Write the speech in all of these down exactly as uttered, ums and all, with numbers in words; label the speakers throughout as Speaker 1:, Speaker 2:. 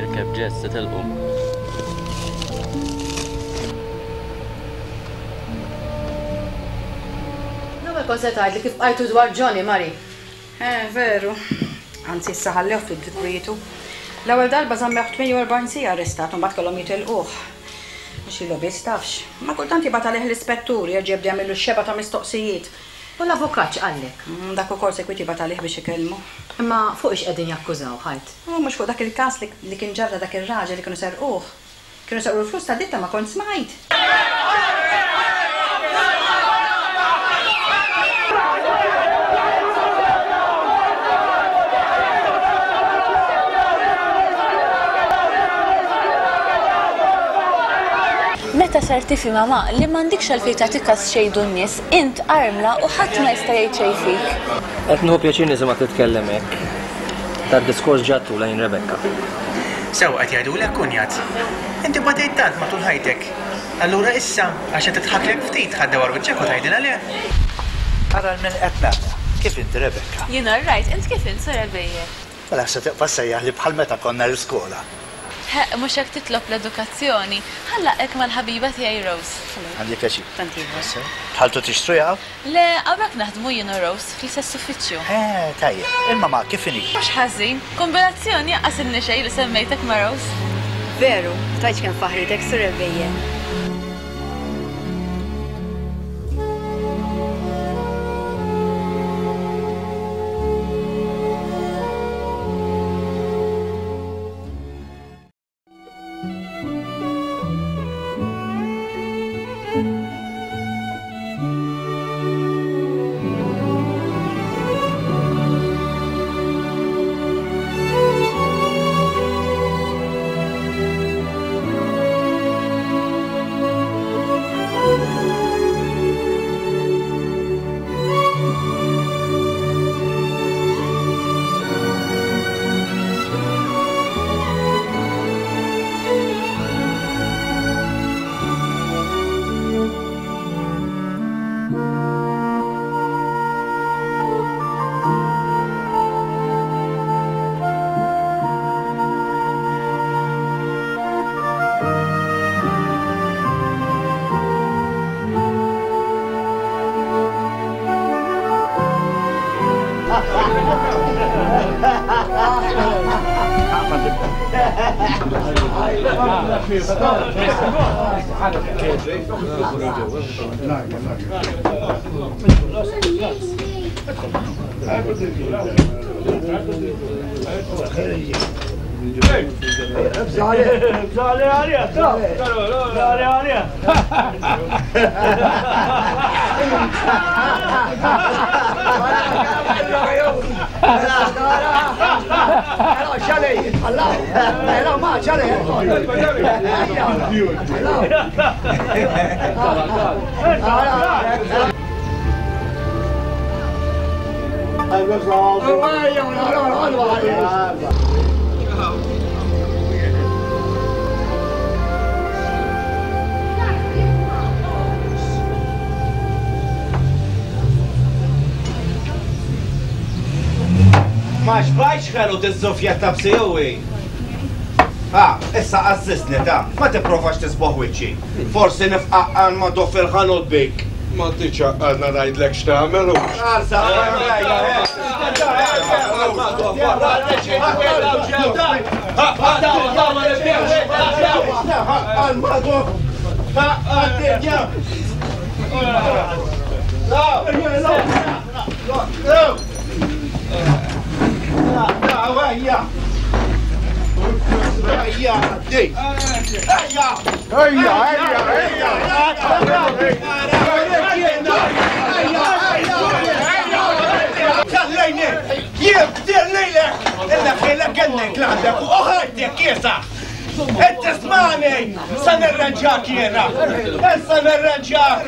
Speaker 1: Irkeb Jess, se telqu.
Speaker 2: L-ewwel kont se tgħidli kif bqajtu dwar Johnny, Mari.
Speaker 3: Eh, veru. Anzi, issa ħallewh ftit kwietu. L-ewwel darba żammewh tmienja u erbgħin siegħa arrestat u mbagħad kellhom jitilquh. Għax ilu biss tafx. Ma kultant jibgħat għalih l-ispettur jerġa' jibda jagħmillu x-xebgħa ta' mistoqsijiet.
Speaker 2: U l-avukat x'qallek?
Speaker 3: Mm, dak ukoll sekwit jibgħat għalih biex ikellmu.
Speaker 2: Imma fuq ix qegħdin jakkużaw, ħajt?
Speaker 3: U mhux fuq dak il-każ li, li kien ġarra dak ir-raġel li kienu serquh. Kienu serqu l-flus ta' ditta ma kont smajt.
Speaker 4: Meta sar tifhimha ma li m'għandikx għalfejn tagħti każ xejdu n-nies, int armla u ħadd ma jista' jgħid xejn fik.
Speaker 5: Qed nieħu pjaċir nisimgħek titkellem hekk. Tad-diskors ġattu lejn Rebecca.
Speaker 6: Sew qed jgħidulek kunjat. Inti batejt tant matul ħajtek. Allura issa għax qed tidħaklek ftit ħaddewar wiċċek u tgħidilha le.
Speaker 7: Ara l-min qed nara. Kif inti Rebecca?
Speaker 4: Jien all right, int kif int Sora Bejje?
Speaker 7: Mela se tibqa' sejjaħ li bħal meta konna l-iskola.
Speaker 4: Ħeq, mhux hekk titlob l-edukazzjoni. Ħallaqek mal-ħabiba tiegħi Rose.
Speaker 7: Għandi pjaċir.
Speaker 3: Tant ieħor.
Speaker 7: Dħaltu tixtru jaw?
Speaker 4: Le, hawnhekk naħdmu jien u Rose fl-istess uffiċċju.
Speaker 7: Eh, tajjeb. Imma ma kif inhi?
Speaker 4: Mhux ħażin, kombinazzjoni għasilni xejn li semmejtek ma' Rose.
Speaker 3: Veru, tgħidx kemm faħritek Sora Bejje.
Speaker 8: Ma xbajx ħelu tiż-żufja ta' bsijuwi. Ah, issa qazzisni ta' ma tipprovax tisboħ wiċċi. Forsi nifqaqqan ma dof il-ħanut bik.
Speaker 9: Ma tiċaqqadna ngħidlek x'tagħmel u.
Speaker 8: Arsa, Ħallejni! Jien bdir lilek! Illa ħilek gennek l-għandek u ħajtek kiesa! Int tismani! Sa nirranġak jiena! Issa nirranġak!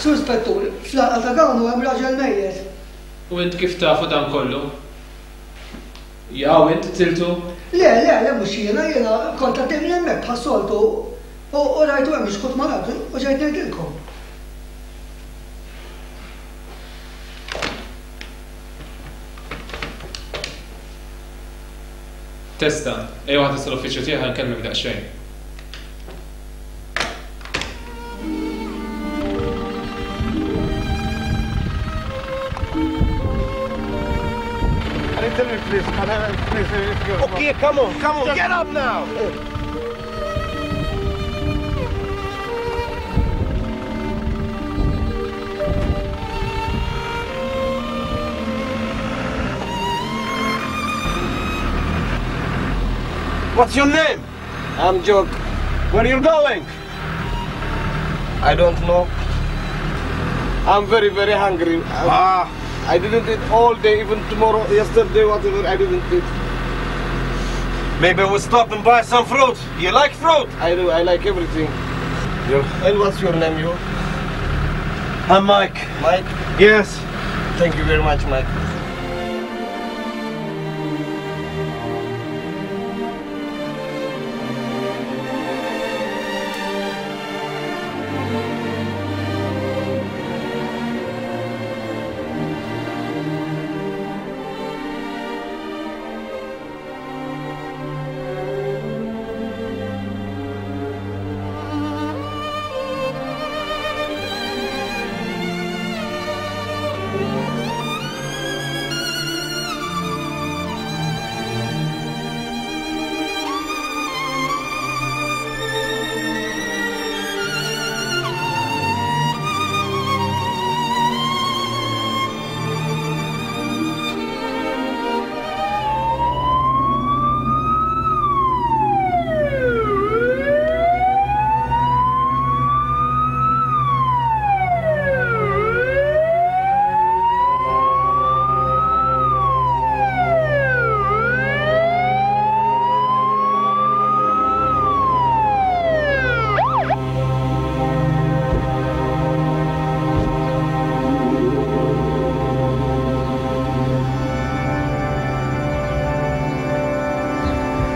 Speaker 1: Sur Spettur, fl-għalqa ta' Gawnu hemm raġel mejjet.
Speaker 10: U int kif tafu dan kollu? Jaw int qtiltu?
Speaker 1: Le, le, le, mhux jiena, jiena kont għaddej minn hemmhekk bħas-soltu u rajtu hemm xkut mal-art u ġejt ngħidilkom.
Speaker 10: Testa, ejja ħa tista' l-uffiċċju tiegħi ħa nkellmek daqsxejn.
Speaker 9: Tell me please, can I please if you
Speaker 8: Okay, come on, come on, get up now! What's your name?
Speaker 5: I'm Joke.
Speaker 8: Where are you going?
Speaker 5: I don't know. I'm very, very hungry.
Speaker 8: Ah.
Speaker 5: I didn't eat all day, even tomorrow, yesterday, whatever, I didn't eat.
Speaker 8: Maybe we'll stop and buy some fruit. You like fruit?
Speaker 5: I do, I like everything.
Speaker 8: Yeah.
Speaker 5: And what's your name, you?
Speaker 8: I'm Mike.
Speaker 5: Mike?
Speaker 8: Yes.
Speaker 5: Thank you very much, Mike.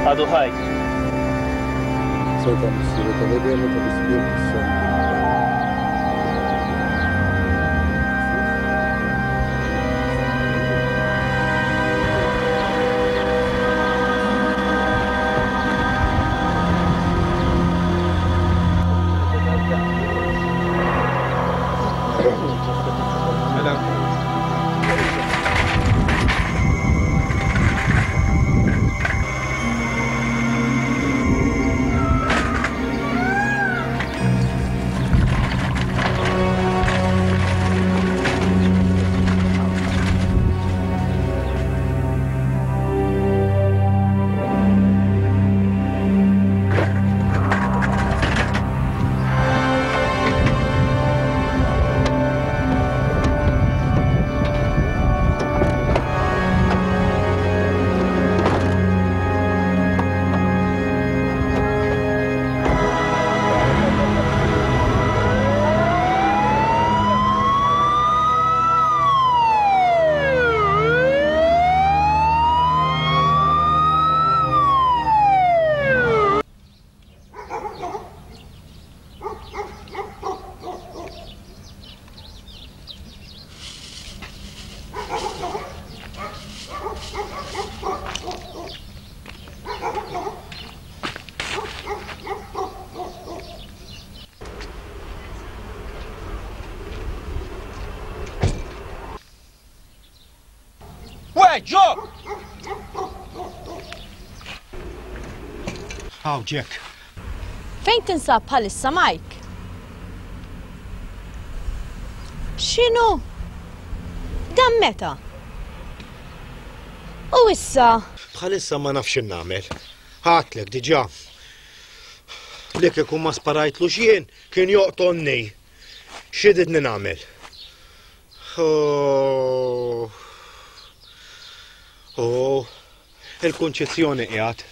Speaker 5: Għadu ħaj.
Speaker 9: Sota Missiru tal-Eternu tal-Ispirtu Santu.
Speaker 8: Wait, Joe! Haw, Jack.
Speaker 2: Fejn tinsab bħalissa, Mike? X'inhu? Dan meta? U issa?
Speaker 9: Bħalissa ma nafx nagħmel. Ħatlek diġà. Li kieku ma sparajtlu xien kien joqtolni. X'ididni nagħmel? Oh. Oh, il-Kunċizzjoni qiegħed.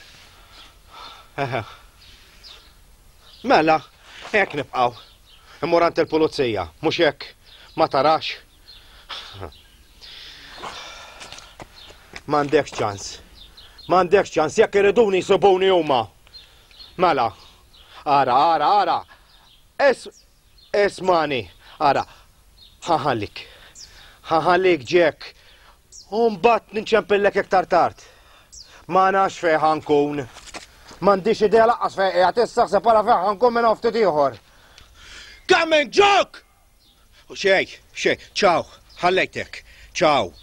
Speaker 9: Mela, hekk nibqgħu. Immur għand il-pulizija, mhux hekk, ma tarax. M'għandekx ċans. M'għandekx ċans, jekk iriduni jsibuni huma. Mela, ara, ara, ara. Es, esmani, ara. Ħaħallik. Ħaħallik, Jack. U mbagħad ninċempillek iktar tard. Ma nafx fejn ħa nkun. M'għandix idea lanqas fejn qiegħed issa ħseb ara fejn ħa nkun minn hawn ftit ieħor. Coming, Jock! Xej, xej, ciao, ħallejtek, ciao.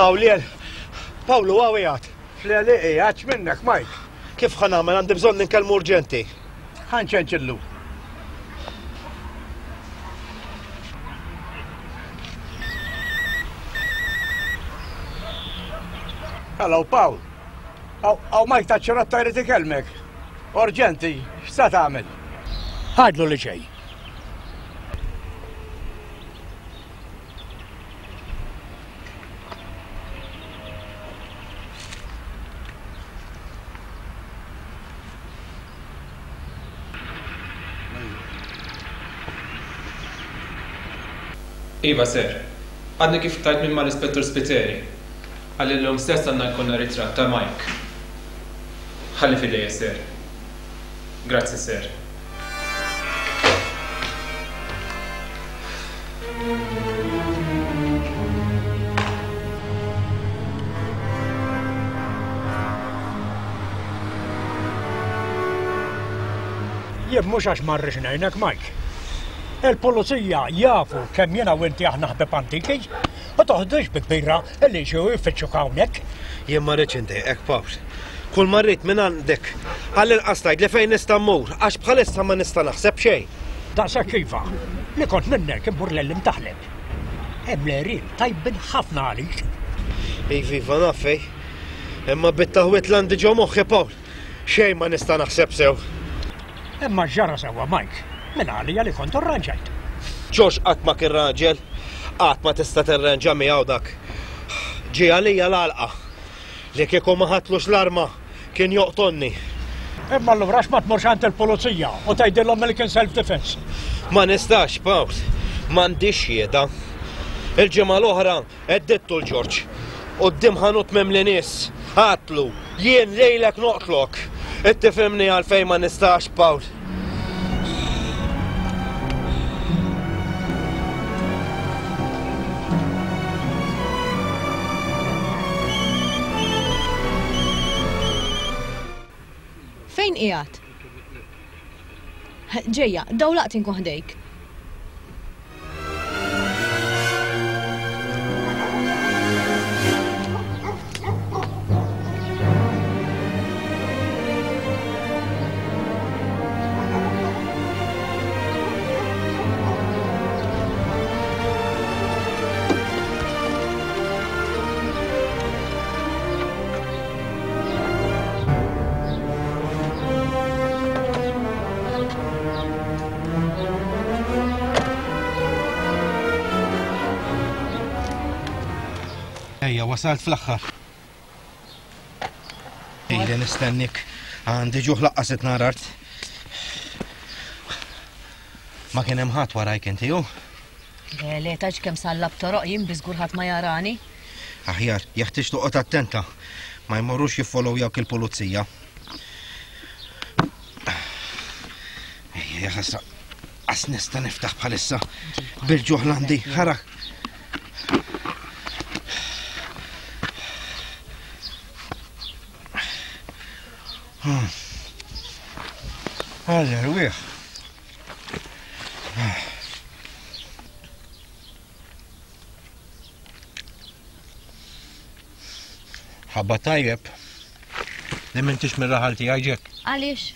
Speaker 9: Aw, Liel, Pawlu, għaw qiegħed.
Speaker 7: Fl-għeliqi, għadx minnek, Mike.
Speaker 9: Kif ħa nagħmel, għandi bżonn ninkellmu urġenti.
Speaker 7: Ħa nċenċillu. Hello, Pawl. Aw, Mike taċ-ċirotta jrid ikellmek. Urġenti, x'sa tagħmel? Għadlu li ġej.
Speaker 10: Iva, sir. Għadni kif tajt minn mal-Ispettur Spiteri. Għalli l-lum stess għandna jkollna ritratt ta' Mike. Ħalli fidejja, sir. Grazzi, sir.
Speaker 7: Jien mhux għax ma rridx ngħinek, Mike. Il-pulizija jafu kemm jiena u inti aħna ħbieb antiki, u toħdux bi kbira li ġew jfittxuk hawnhekk.
Speaker 9: Jien ma rridx indejqek, Pawl. Kull ma rrid minn għandek, għall-inqas tgħidli fejn nista' mmur, għax bħalissa ma nista' naħseb xejn.
Speaker 7: Daqshekk iva, li kont minnek immur lil imtaħleb. Hemm l-għerien tajbin ħafna għalik.
Speaker 9: Iva, iva, naf fejn. Imma bit-taħwit l-għandi ġo moħħi, Pawl. Xejn ma nista' naħseb sew.
Speaker 7: Imma ġara sewwa, Mike. Minn għalija li kont arranġajt.
Speaker 9: Ġorġ qatt ma kien raġel, qatt ma tista' tirranġa miegħu dak. Ġie għalija l-għalqa. Li kieku ma ħadtlux l-arma kien joqtolni.
Speaker 7: Imma allura għax ma tmurx għand il-pulizija u tgħidilhom li kien self-defense?
Speaker 9: Ma nistax, Pawl. M'għandix xhieda. Il-ġimgħa l-oħra għeddittu l-Ġorġ. Quddiem ħanut mimli nies. Għadtlu, jien lejlek noqtlok. Ittifhimni għalfejn ma nistax, Pawl.
Speaker 2: Fejn qiegħed? Ġejja, dawlaqt inkun ħdejk.
Speaker 9: Ejja, wasalt fl-aħħar. Ejja, nistennik. Għandi ġuħ laqqas qed narart. Ma kien hemm ħadd warajk inti, hu?
Speaker 2: Le, le, tgħidx kemm sallab toroq jien bi żgur ħadd ma jarani.
Speaker 9: Aħjar, jeħtieġ toqgħod attenta. Ma jmorrux jiffollowjawk il-pulizija. Ejja, ja ħasra. Qas nista' niftaħ bħalissa. Bil-ġuħ l-għandi, ħara. Għalli, rwieħ. Ħabba tajjeb li m'intix mir-raħal tiegħi, Jack.
Speaker 2: Għaliex?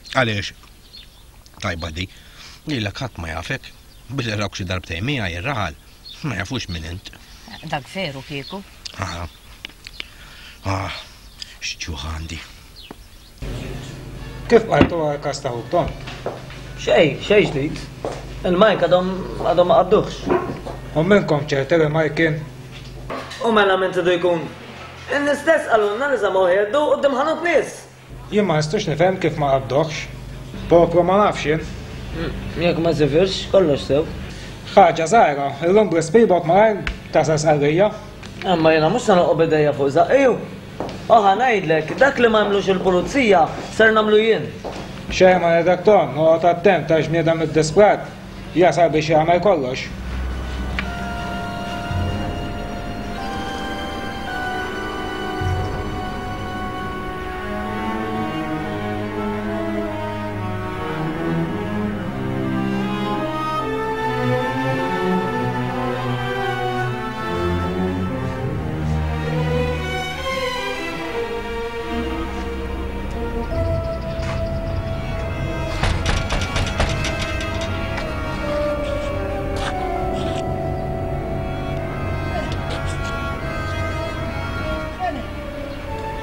Speaker 9: Għaliex, tajba di, lilek ħadd ma jafek, billi rawk xi darbtejn miegħi ir-raħal, ma jafux min int.
Speaker 2: Dak veru kieku.
Speaker 9: Ah, ah, x'ġuħ għandi.
Speaker 11: Kif bqajtu għall-każ ta' ħuk Tom?
Speaker 5: Xejn, xejn ġdid. Il-Mike għadhom għadhom ma qabduhx.
Speaker 11: U minnkom ċerti li Mike kien?
Speaker 5: U mela min tridu jkun? In-nies stess qalulna li żamgħu jheddu quddiem ħanut nies.
Speaker 11: Jien ma nistax nifhem kif ma qabduhx. Poplu ma nafx jien.
Speaker 5: Jekk ma sifirx, kollox sew.
Speaker 11: Ħaġa żgħira, illum bl-speedboat malajr tasal Sqallija.
Speaker 5: Imma jiena mhux se noqgħod b'idejja fuq żaqqi. U ħa ngħidlek, dak li ma għamlux il-pulizija ser nagħmlu jien.
Speaker 11: Xejn ma ngħidlek Ton, noqgħod attent għax bniedem iddisprat jasal biex jagħmel kollox.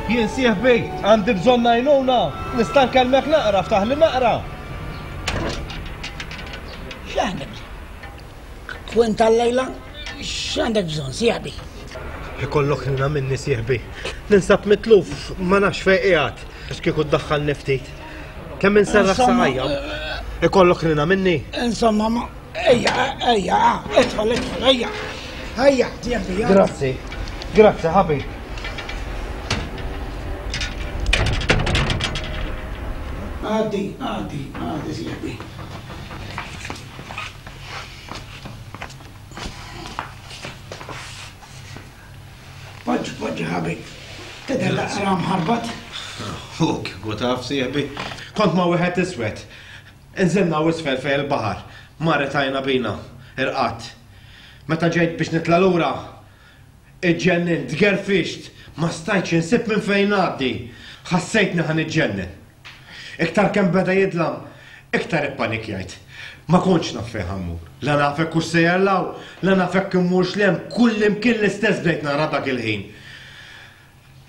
Speaker 9: Jien sieħbi, għandi bżonn għajnuna, nista' nkellmek naqra, ftaħli naqra.
Speaker 12: X'għandek bżonn? Kwint għal-lejla, x'għandek bżonn, sieħbi?
Speaker 9: Ikollok ħna minni sieħbi. Ninsab mitluf, ma nafx fejn qiegħed. Għax kieku ddaħħalni ftit. Kemm inserraħ saqajja. Ikollok ħna minni.
Speaker 12: Insomma, ma ejja, ejja, idħol, idħol, ejja. Ejja, sieħbi.
Speaker 9: Grazzi. Grazzi, ħabib.
Speaker 12: Għaddi, għaddi, għaddi, sieħbi. Poġġi, poġġi, ħabib. Tidher naqra mħarbat.
Speaker 9: U kieku taf, sieħbi. Kont ma' wieħed iswed. Inżilna u isfel fejn il-baħar. Marret għajna bina, irqadt. Meta ġejt biex nitla' lura, iġġennint, tgerfixt, ma stajtx insib minn fejn ngħaddi. Ħassejtni ħa niġġennen. Iktar kemm beda jidlam, iktar ippanikjajt. Ma kontx naf fejn ħa mmur. La naf hekk hux sejjer 'l hawn, la naf hekk immurx 'l hemm, kull imkien l-istess bdejt nara dak il-ħin.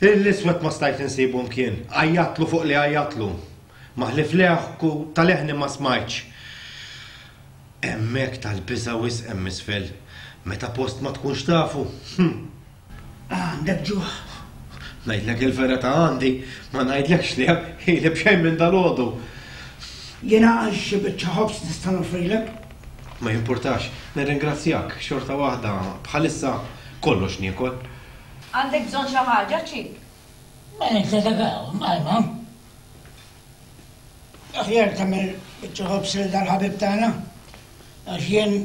Speaker 9: L-iswed ma stajt insibu mkien, għajjatlu fuq li għajjatlu. Ma ħlief leħku ta' leħni ma smajtx. Hemmhekk tal-biża' wisq hemm isfel, meta post ma tkunx tafu. Hm.
Speaker 12: Għandek ġuħ.
Speaker 9: Ngħidlek il-verità għandi, ma ngħidlekx li ili b'xejn minn dalgħodu.
Speaker 12: Jiena għal xi biċċa ħobż nista' noffrilek.
Speaker 9: Ma jimpurtax, nirringrazzjak, xorta waħda bħalissa kollox niekol.
Speaker 3: Għandek bżonn xi ħaġa, Ċik?
Speaker 12: Ma nintedagaw, majma. Aħjar tagħmel biċċa ħobż lil dal-ħabib tagħna, għax jien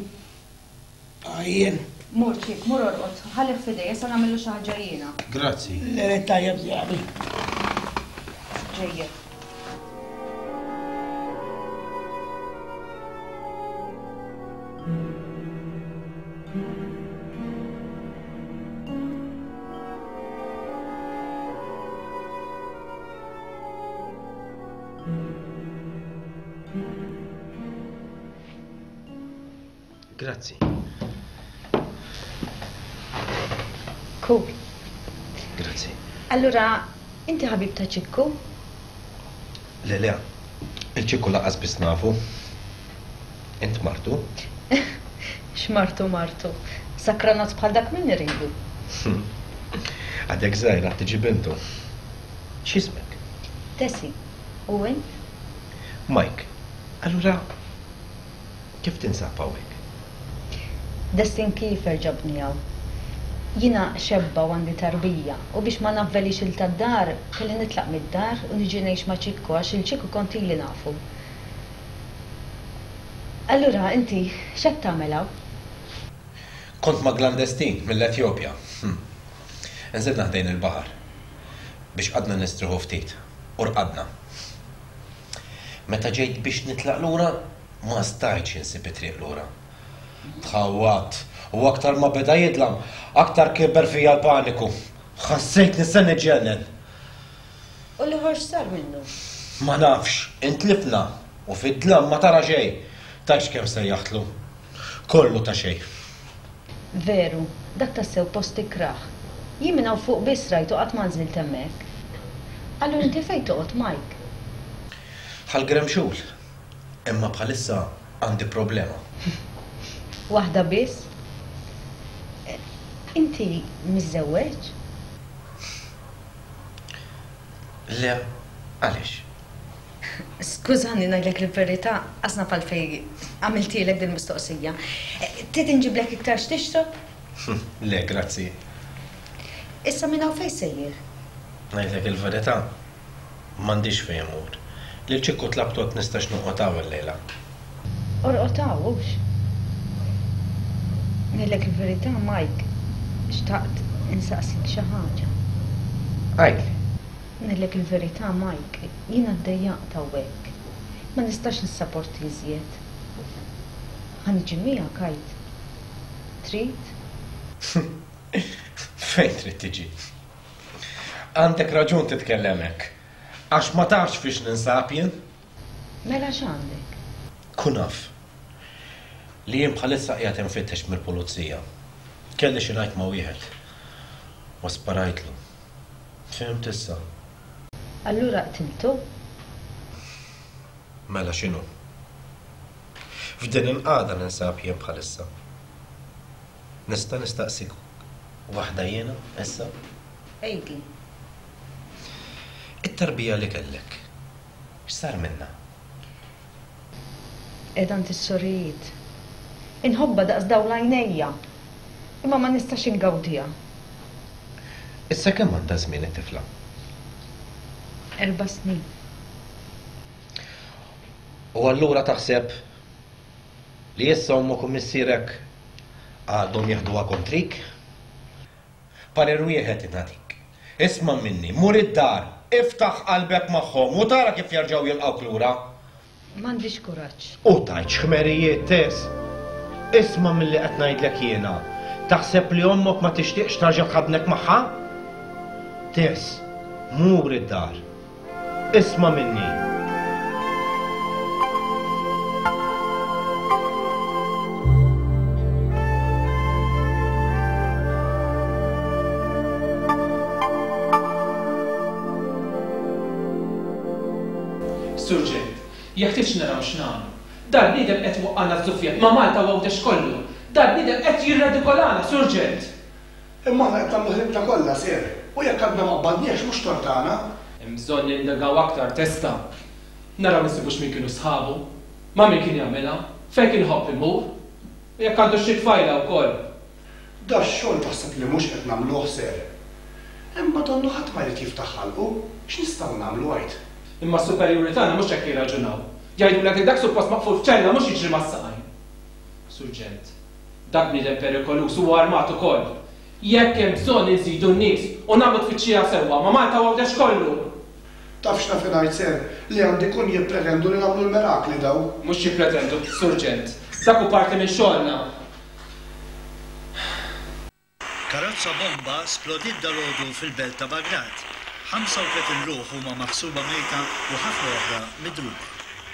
Speaker 12: għajjien.
Speaker 3: Mur Ċik, mur orqod, ħallih f'idejja sa nagħmillu xi ħaġa jiena.
Speaker 9: Grazzi.
Speaker 12: Lejlek tajjeb, sieħbi.
Speaker 3: Ġejjed.
Speaker 9: Grazzi.
Speaker 4: Cool.
Speaker 9: Grazzi.
Speaker 4: Allura, inti ħabib ta' Ċikku?
Speaker 9: Le, le, il-Ċikku lanqas biss nafu. Int martu?
Speaker 4: X'martu martu? Sakranat bħal dak min iridu.
Speaker 9: Għadek żgħira tiġi bintu. X'ismek?
Speaker 4: Tessie. U int?
Speaker 9: Mike. Allura, kif tinsab hawnhekk?
Speaker 4: Destin Kiefer ġabni hawn. Jiena xebba u għandi tarbija u biex ma navvelix il tad-dar kelli nitlaq mid-dar u niġi ngħix ma' Ċikku għax il-Ċikku kont ili nafu. Allura inti x'qed tagħmel hawn?
Speaker 9: Kont ma' klandestin mill-Etjopja. Hm. Nżilna ħdejn il-baħar biex qadna nistrieħu ftit u rqadna. Meta ġejt biex nitlaq lura, ma stajtx insib it-triq lura. Tħawwadt u aktar ma beda jidlam, aktar kiber fija l-paniku. Ħassejt nista' niġġennen.
Speaker 4: U l-ieħor x'sar minnu?
Speaker 9: Ma nafx, intlifna u fid-dlam ma tara xejn. Tgħidx kemm sejjaħtlu. Kollu ta' xejn.
Speaker 4: Veru, dak tassew post ikrah. Jien minn hawn fuq biss rajtu qatt ma nżilt hemmhekk. Allura inti fejn toqgħod, Mike?
Speaker 9: Ħal Gremxul. Imma bħalissa għandi problema.
Speaker 4: Waħda biss? Inti miżżewweġ?
Speaker 9: Le, għaliex?
Speaker 4: Skużani ngħidlek il-verità, qasna għalfejn għamiltilek din mistoqsija. Trid inġiblek iktar x'tixrob?
Speaker 9: Le, grazzi.
Speaker 4: Issa minn hawn fejn sejjer?
Speaker 9: Ngħidlek il-verità, m'għandix fejn immur. Lil Ċikku tlabtu jekk nistax noqgħod hawn illejla.
Speaker 4: Orqod hawn hux. Ngħidlek il-verità, Mike, xtaqt insaqsik xi ħaġa.
Speaker 9: Għidli.
Speaker 4: Ngħidlek il-verità, Mike, jiena ddejjaqt hawnhekk. Ma nistax nissaporti iżjed. Ħa niġi miegħek għid. Trid?
Speaker 9: Fejn trid tiġi? Għandek raġun titkellem hekk. Għax ma tafx fiex ninsab jien.
Speaker 4: Mela x'għandek?
Speaker 9: Kun af li jien bħalissa qiegħed infittex mill-pulizija. Kelli xi ngħid ma' wieħed. U sparajtlu. Fhimt issa?
Speaker 4: Allura qtiltu?
Speaker 9: Mela x'inhu? F'din il-qagħda ninsab jien bħalissa. Nista' nistaqsik waħda jiena issa?
Speaker 4: Għidli.
Speaker 9: It-tarbija li kellek, x'sar minnha?
Speaker 4: Qiegħda għand is-sorijiet. Inħobbha daqs dawl għajnejja. Imma ma nistax ingawdiha.
Speaker 9: Issa kemm għandha żmien it-tifla?
Speaker 4: Erba' snin.
Speaker 9: U allura taħseb li issa ommok u missierek għadhom jeħduha kontrik? Parir wieħed nagħtik. Isma' minni, mur id-dar, iftaħ qalbek magħhom u tara kif jerġgħu jilqgħuk lura.
Speaker 4: M'għandix kuraġġ.
Speaker 9: U tgħidx ħmerijiet, Tess. Isma' milli qed ngħidlek jiena. Taħseb li ommok ma tixtieqx tarġa' tħaddnek magħha? Tess, mur id-dar. Isma' minni.
Speaker 10: Surġent, jeħtieġ naraw x'nagħmlu. Dal-bniedem qed waqqana żufjet ma' Malta u Għawdex kollu. Dal-bniedem qed jirredikolana, Surġent.
Speaker 13: Imma aħna qed nagħmlu ħidmitna kollha, sir. U jekk għadna ma qbadniex mhux tort tagħna.
Speaker 10: Hemm bżonn nindagaw aktar testa. Naraw insibux min kienu sħabu, ma' min kien jagħmilha, fejn kien iħobb imur. U jekk għandu xi tfajla wkoll.
Speaker 13: Dax-xogħol taħseb li mhux qed nagħmluh, sir. Imma donnu ħadd ma jrid jiftaħ ħalqu, x'nistgħu nagħmlu għid?
Speaker 10: Imma s-superjuri tagħna mhux hekk jirraġunaw. Jgħidulek li dak suppost maqful f'ċella mhux jiġri mas-saqajn. Surġent, dak bniedem perikoluż huwa armat ukoll. Jekk hemm bżonn inżidu n-nies u nagħmlu tfittxija sewwa ma' Malta u Għawdex kollu.
Speaker 13: Taf x'naf ngħid, sir, li għandi kun jippretendu li nagħmlu l-mirakli daw.
Speaker 10: Mhux jippretendu, Surġent. Dak hu parti minn xogħolna.
Speaker 14: Karozza bomba splodiet dalgħodu fil-belt ta' Bagdad. ħamsa u tletin ruħ huma maħsuba mejta u ħafna oħra midruba.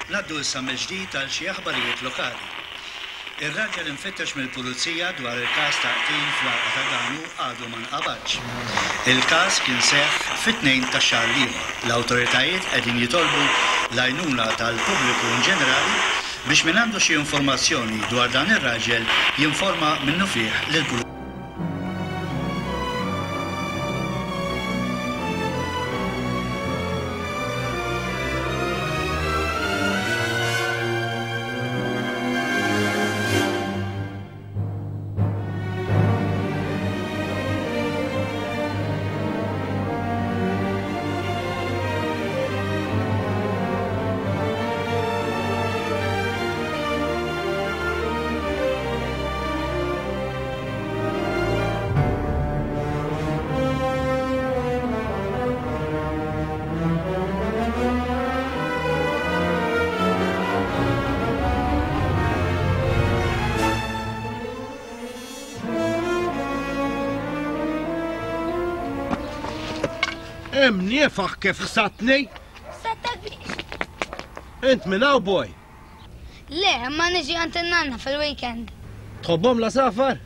Speaker 14: Ngħaddu issa mill-ġdid għal xi aħbarijiet lokali. Ir-raġel infittex mill-pulizija dwar il-każ ta' qtil fl-Għalqa ta' Ganu għadu ma nqabadx. Il-każ kien seħħ fit-tnejn tax-xahar l-ieħor. L-awtoritajiet qegħdin jitolbu l-għajnuna tal-pubbliku in ġenerali biex min għandu xi informazzjoni dwar dan ir-raġel jinforma minnufih lill-pulizija.
Speaker 9: Imniefaħ kif ħsatni?
Speaker 15: Ħsattak biex.
Speaker 9: Int minn hawn boy?
Speaker 15: Le, imma niġi għand in-nanna fil-weekend.
Speaker 9: Tħobbhom l-għasafar?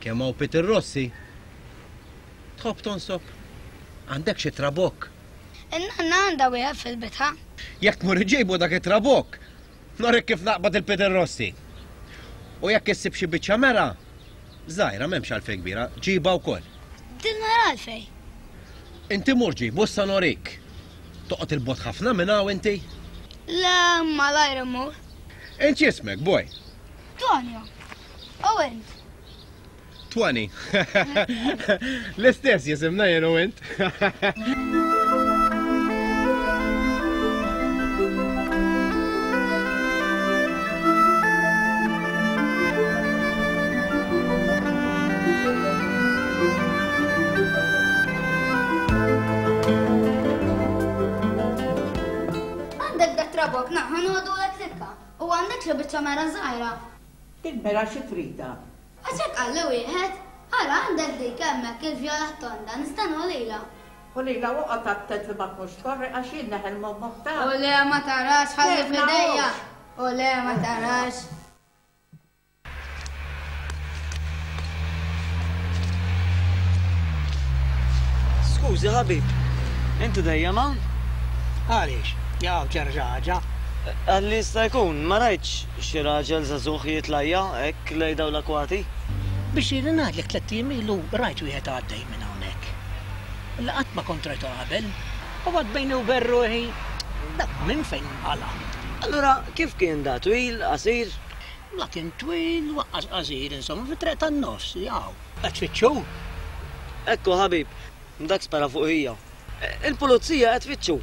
Speaker 9: Kemm hawn Peter Rossi? Tħobb tonsob? Għandek xi trabokk?
Speaker 15: In-nanna għandha wieħed fil-bitħa.
Speaker 9: Jekk tmur iġibu dak it-trabokk, norik kif naqbad il-Peter Rossi. U jekk issib xi biċċa mera, żgħira m'hemmx għalfejn kbira, ġibha wkoll.
Speaker 15: Din mera għalfejn.
Speaker 9: Inti mur ġibu issa norik. Toqgħod il-bogħod ħafna minn hawn inti?
Speaker 15: Le, malajr immur.
Speaker 9: Int x'ismek, boy?
Speaker 15: Tonio. U int?
Speaker 9: Twani. L-istess jisimna jien u int.
Speaker 15: Għandek dak trabok, na, ħanodu l tikka. U għandek xi biċċa mera żgħira.
Speaker 16: Dik mera xi tridha?
Speaker 15: Għax hekk qalli wieħed. Ara għandek dik hemmhekk il-vjola tonda, nista' nħolilha.
Speaker 16: U lilha oqgħod attent li ma tmurx tkorri għax jien neħel mommok ta'.
Speaker 15: U le ma tarax ħalli f'idejja. U le ma tarax.
Speaker 5: Skużi ħabib, inti dejjem hawn?
Speaker 12: Għaliex? Jaw ġara xi ħaġa.
Speaker 5: Għalli jista' jkun, ma rajtx xi raġel żagħżugħ jitlajja hekk lejn dawn l-akwati.
Speaker 12: Biex ili ngħidlek tliet ijiem ilu rajt wieħed għaddej minn hawnhekk. Li qatt ma kont rajtu qabel. U għad bejni u bejn ruħi, dak minn fejn qala.
Speaker 5: Allura kif kien da, twil, qasir?
Speaker 12: La kien twil, waqqas qasir, insomma, fit-triq tan-nofs, jaw. Qed tfittxu?
Speaker 5: Ekku ħabib, dak spara fuq hija. Il-pulizija qed tfittxu.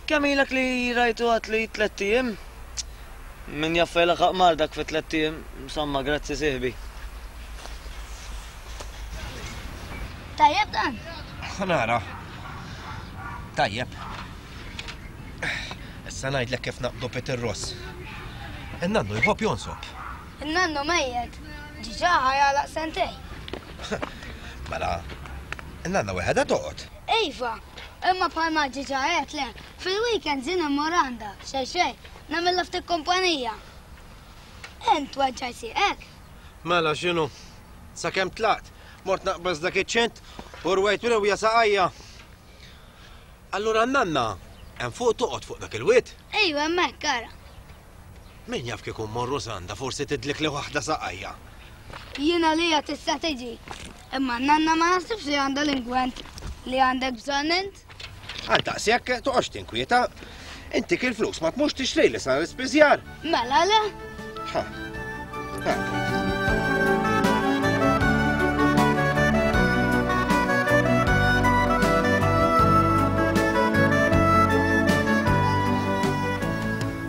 Speaker 5: Kemm ilek li rajtu għad li tliet ijiem? Min jaf fejn laħaq mar dak fi tliet ijiem, insomma, grazzi sieħbi.
Speaker 15: Tajjeb dan?
Speaker 9: Nara. Tajjeb. Issa ngħidlek kif naqbdu Peter Ross. In-nannu jħobb jonsob.
Speaker 15: In-nannu mejjet. Ġiġa ħajalaq sentej.
Speaker 9: Mela, in-nanna weħedha toqgħod.
Speaker 15: Iva, imma bħalma ġiġa għedtlek, fil-weekend jien immur għandha, xejn xejn, nagħmilha ftit kumpanija. Int weġġaj sieqek.
Speaker 9: Mela x'inhu? Sakemm tlaqt, mort naqbeż dak iċ-ċent u rwejt rewja saqajja. Allura n-nanna hemm fuq toqgħod fuq dak il-wied?
Speaker 15: Ejwa, hemmhekk ara.
Speaker 9: Min jaf kieku mmorru s'għandha forsi tidlik li waħda saqajja.
Speaker 15: Jiena lija tista' tiġi. Imma n-nanna ma naħsibx li għandha l-ingwent li għandek bżonn int.
Speaker 9: Għal daqshekk toqgħodx tinkwieta. Inti kil flus ma tmux tixtri li sar l-ispiżjar.
Speaker 15: Mela le.
Speaker 9: Ha. Ha.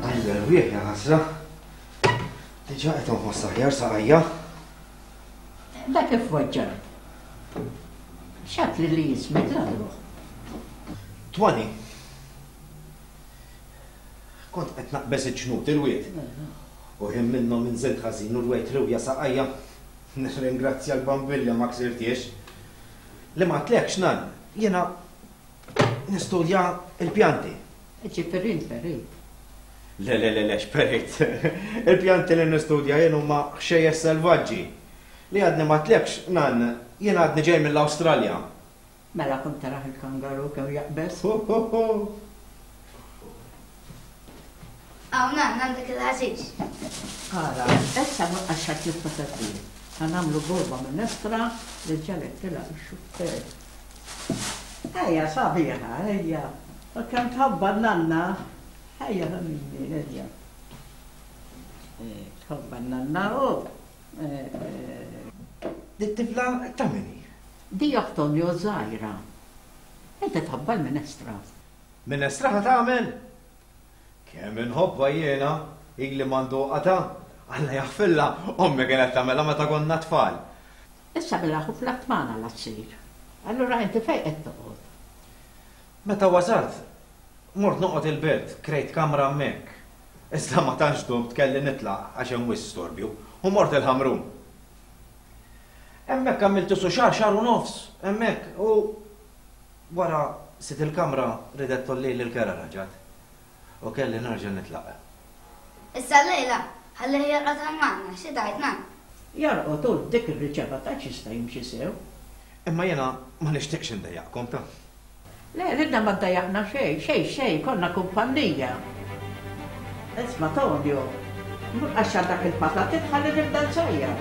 Speaker 9: Għall-erwieħ ja ħasra. Diġà qed inħoss aħjar saqajja.
Speaker 16: Dak kif weġġa'? X'għad li li jismek l-għadruħ?
Speaker 9: Twani. Kont qed naqbeż iċ-ċnut il-wied. U ħin minnhom inżilt ħażin u rwejt rewja saqajja. Nirringrazzja l-bambilja ma ksirtiex. Li ma tlekx nan, jiena nistudja il-pjanti.
Speaker 16: Ġifieri int perit.
Speaker 9: Le, le, le, le, x'perit. Il-pjanti li nistudja jien huma ħxejjex selvaġġi. Li għadni ma tlekx, nan, jien għadni ġej mill-Awstralja.
Speaker 16: Mela kont taraħ il-kangaru kemm jaqbeż.
Speaker 9: Ho, ho, ho.
Speaker 15: Aw, nan, għandek il-ħaxix.
Speaker 16: Ara, issa ma għaxħat l-patati. Ħanamlu borba minestra li ġalek tilaq ix-xuffer. Ejja, sabiħa, ejja. U kemm tħobba n-nanna. Ejja, ħamini, ejja. Tħobba n-nanna u.
Speaker 9: Dit-tifla ta' min hi?
Speaker 16: Di Antonio żgħira. Inti tħobba l-minestra.
Speaker 9: Minestra ħa tagħmel? Kemm inħobbha jiena, ili ma nduqha ta'. Alla jaħfilha, ommi kienet tagħmilha meta konna tfal.
Speaker 16: Issa bil-aħu fl-attmana la ssir. Allura inti fejn qed toqgħod?
Speaker 9: Meta wasalt, mort noqgħod il-belt, krejt kamra hemmhekk. Iżda ma tantx domt kelli nitlaq għax hemm wisq storbju u mort il-Ħamrun. Hemmhekk għamilt isu xahar, xahar u nofs, hemmhekk u wara sit il-kamra ridet tollili l-kera raġat.
Speaker 17: U kelli nerġa' nitlaq.
Speaker 15: Issa llejla, ħallih jorqod hawn magħna, xi tgħid Nan?
Speaker 16: Jorqod hu dik ir-riċeva tgħidx jista' jimxi sew.
Speaker 17: Imma jiena ma nixtieqx indejjaqkom ta.
Speaker 16: Le, lilna ma ddejjaqna xejn, xejn xejn, konna kumpannija. Isma' Tonio, mur qaxxar dak il-patatit ħalli nibda nsajjar.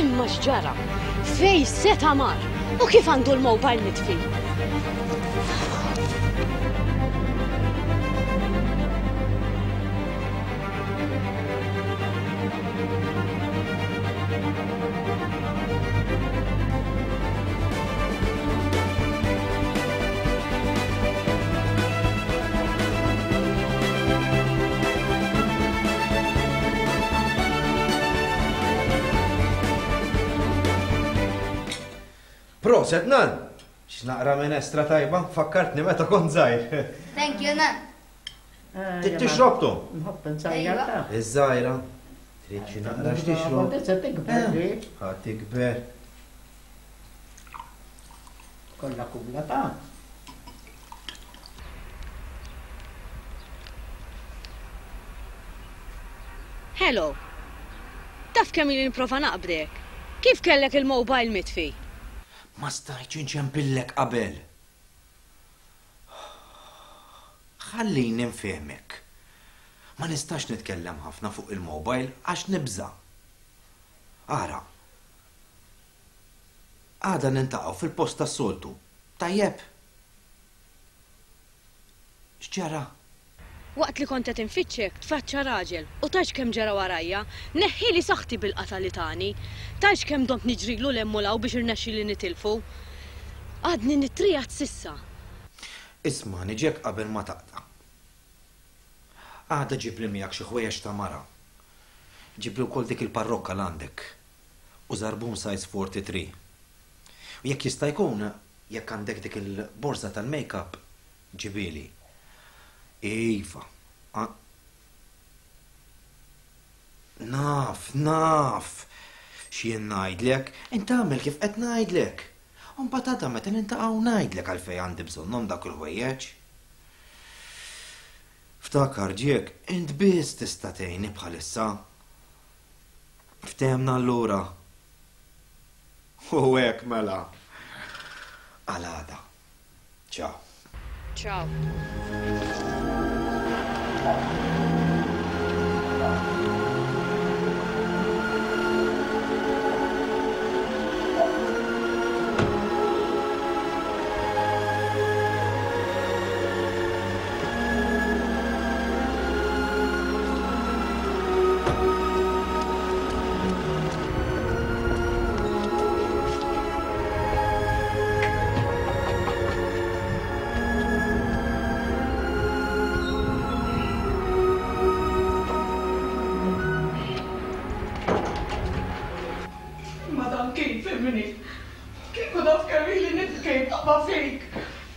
Speaker 2: Imma x'ġara? Fejn seta' mar? U kif għandu l-mobile mitfi?
Speaker 17: Proset, Nan! X'naqra minestra tajba, fakkartni meta kont żgħir.
Speaker 15: Thank you, Nan.
Speaker 17: Trid tixrob tu?
Speaker 16: Nħobb nsajjar ta.
Speaker 17: Iż-żgħira. Trid xi naqra x'tixrob.
Speaker 16: Se tikber.
Speaker 17: Ħa tikber.
Speaker 16: Kollha kubla ta.
Speaker 2: Hello. Taf kemm ili nipprova naqbdek? Kif kellek il-mobile mitfi?
Speaker 17: Ma stajtx inċempillek qabel. Ħallini nfehmek. Ma nistax nitkellem ħafna fuq il-mobile għax nibża'. Ara. Għada niltaqgħu fil-post tas-soltu. Tajjeb. X'ġara?
Speaker 2: Waqt li kont qed infittxek, tfaċċa raġel u tgħidx kemm ġara warajja, neħħieli saħħti bil-qatgħa li tani. Tgħidx kemm domt niġrilu 'l hemm u 'l hawn biex irnexxieli nitilfu. Għadni nittriegħed s'issa.
Speaker 17: Ismagħni Jack qabel ma taqta'. Għada ġibli miegħek xi ħwejjeġ ta' mara. Ġibli wkoll dik il-parrokka l għandek u żarbun size forty three. U jekk jista' jkun, jekk għandek dik il-borża tal-makeup, ġibieli. Iva. Naf, naf. X'jien ngħidlek, int agħmel kif qed ngħidlek. U mbagħad għada meta niltaqgħu ngħidlek għalfejn għandi bżonnhom dak il-ħwejjeġ. Ftakar Jack, int biss tista' tgħinni bħalissa. Ftehemna allura. U hekk mela. Għal għada. Ciao.
Speaker 2: Ciao.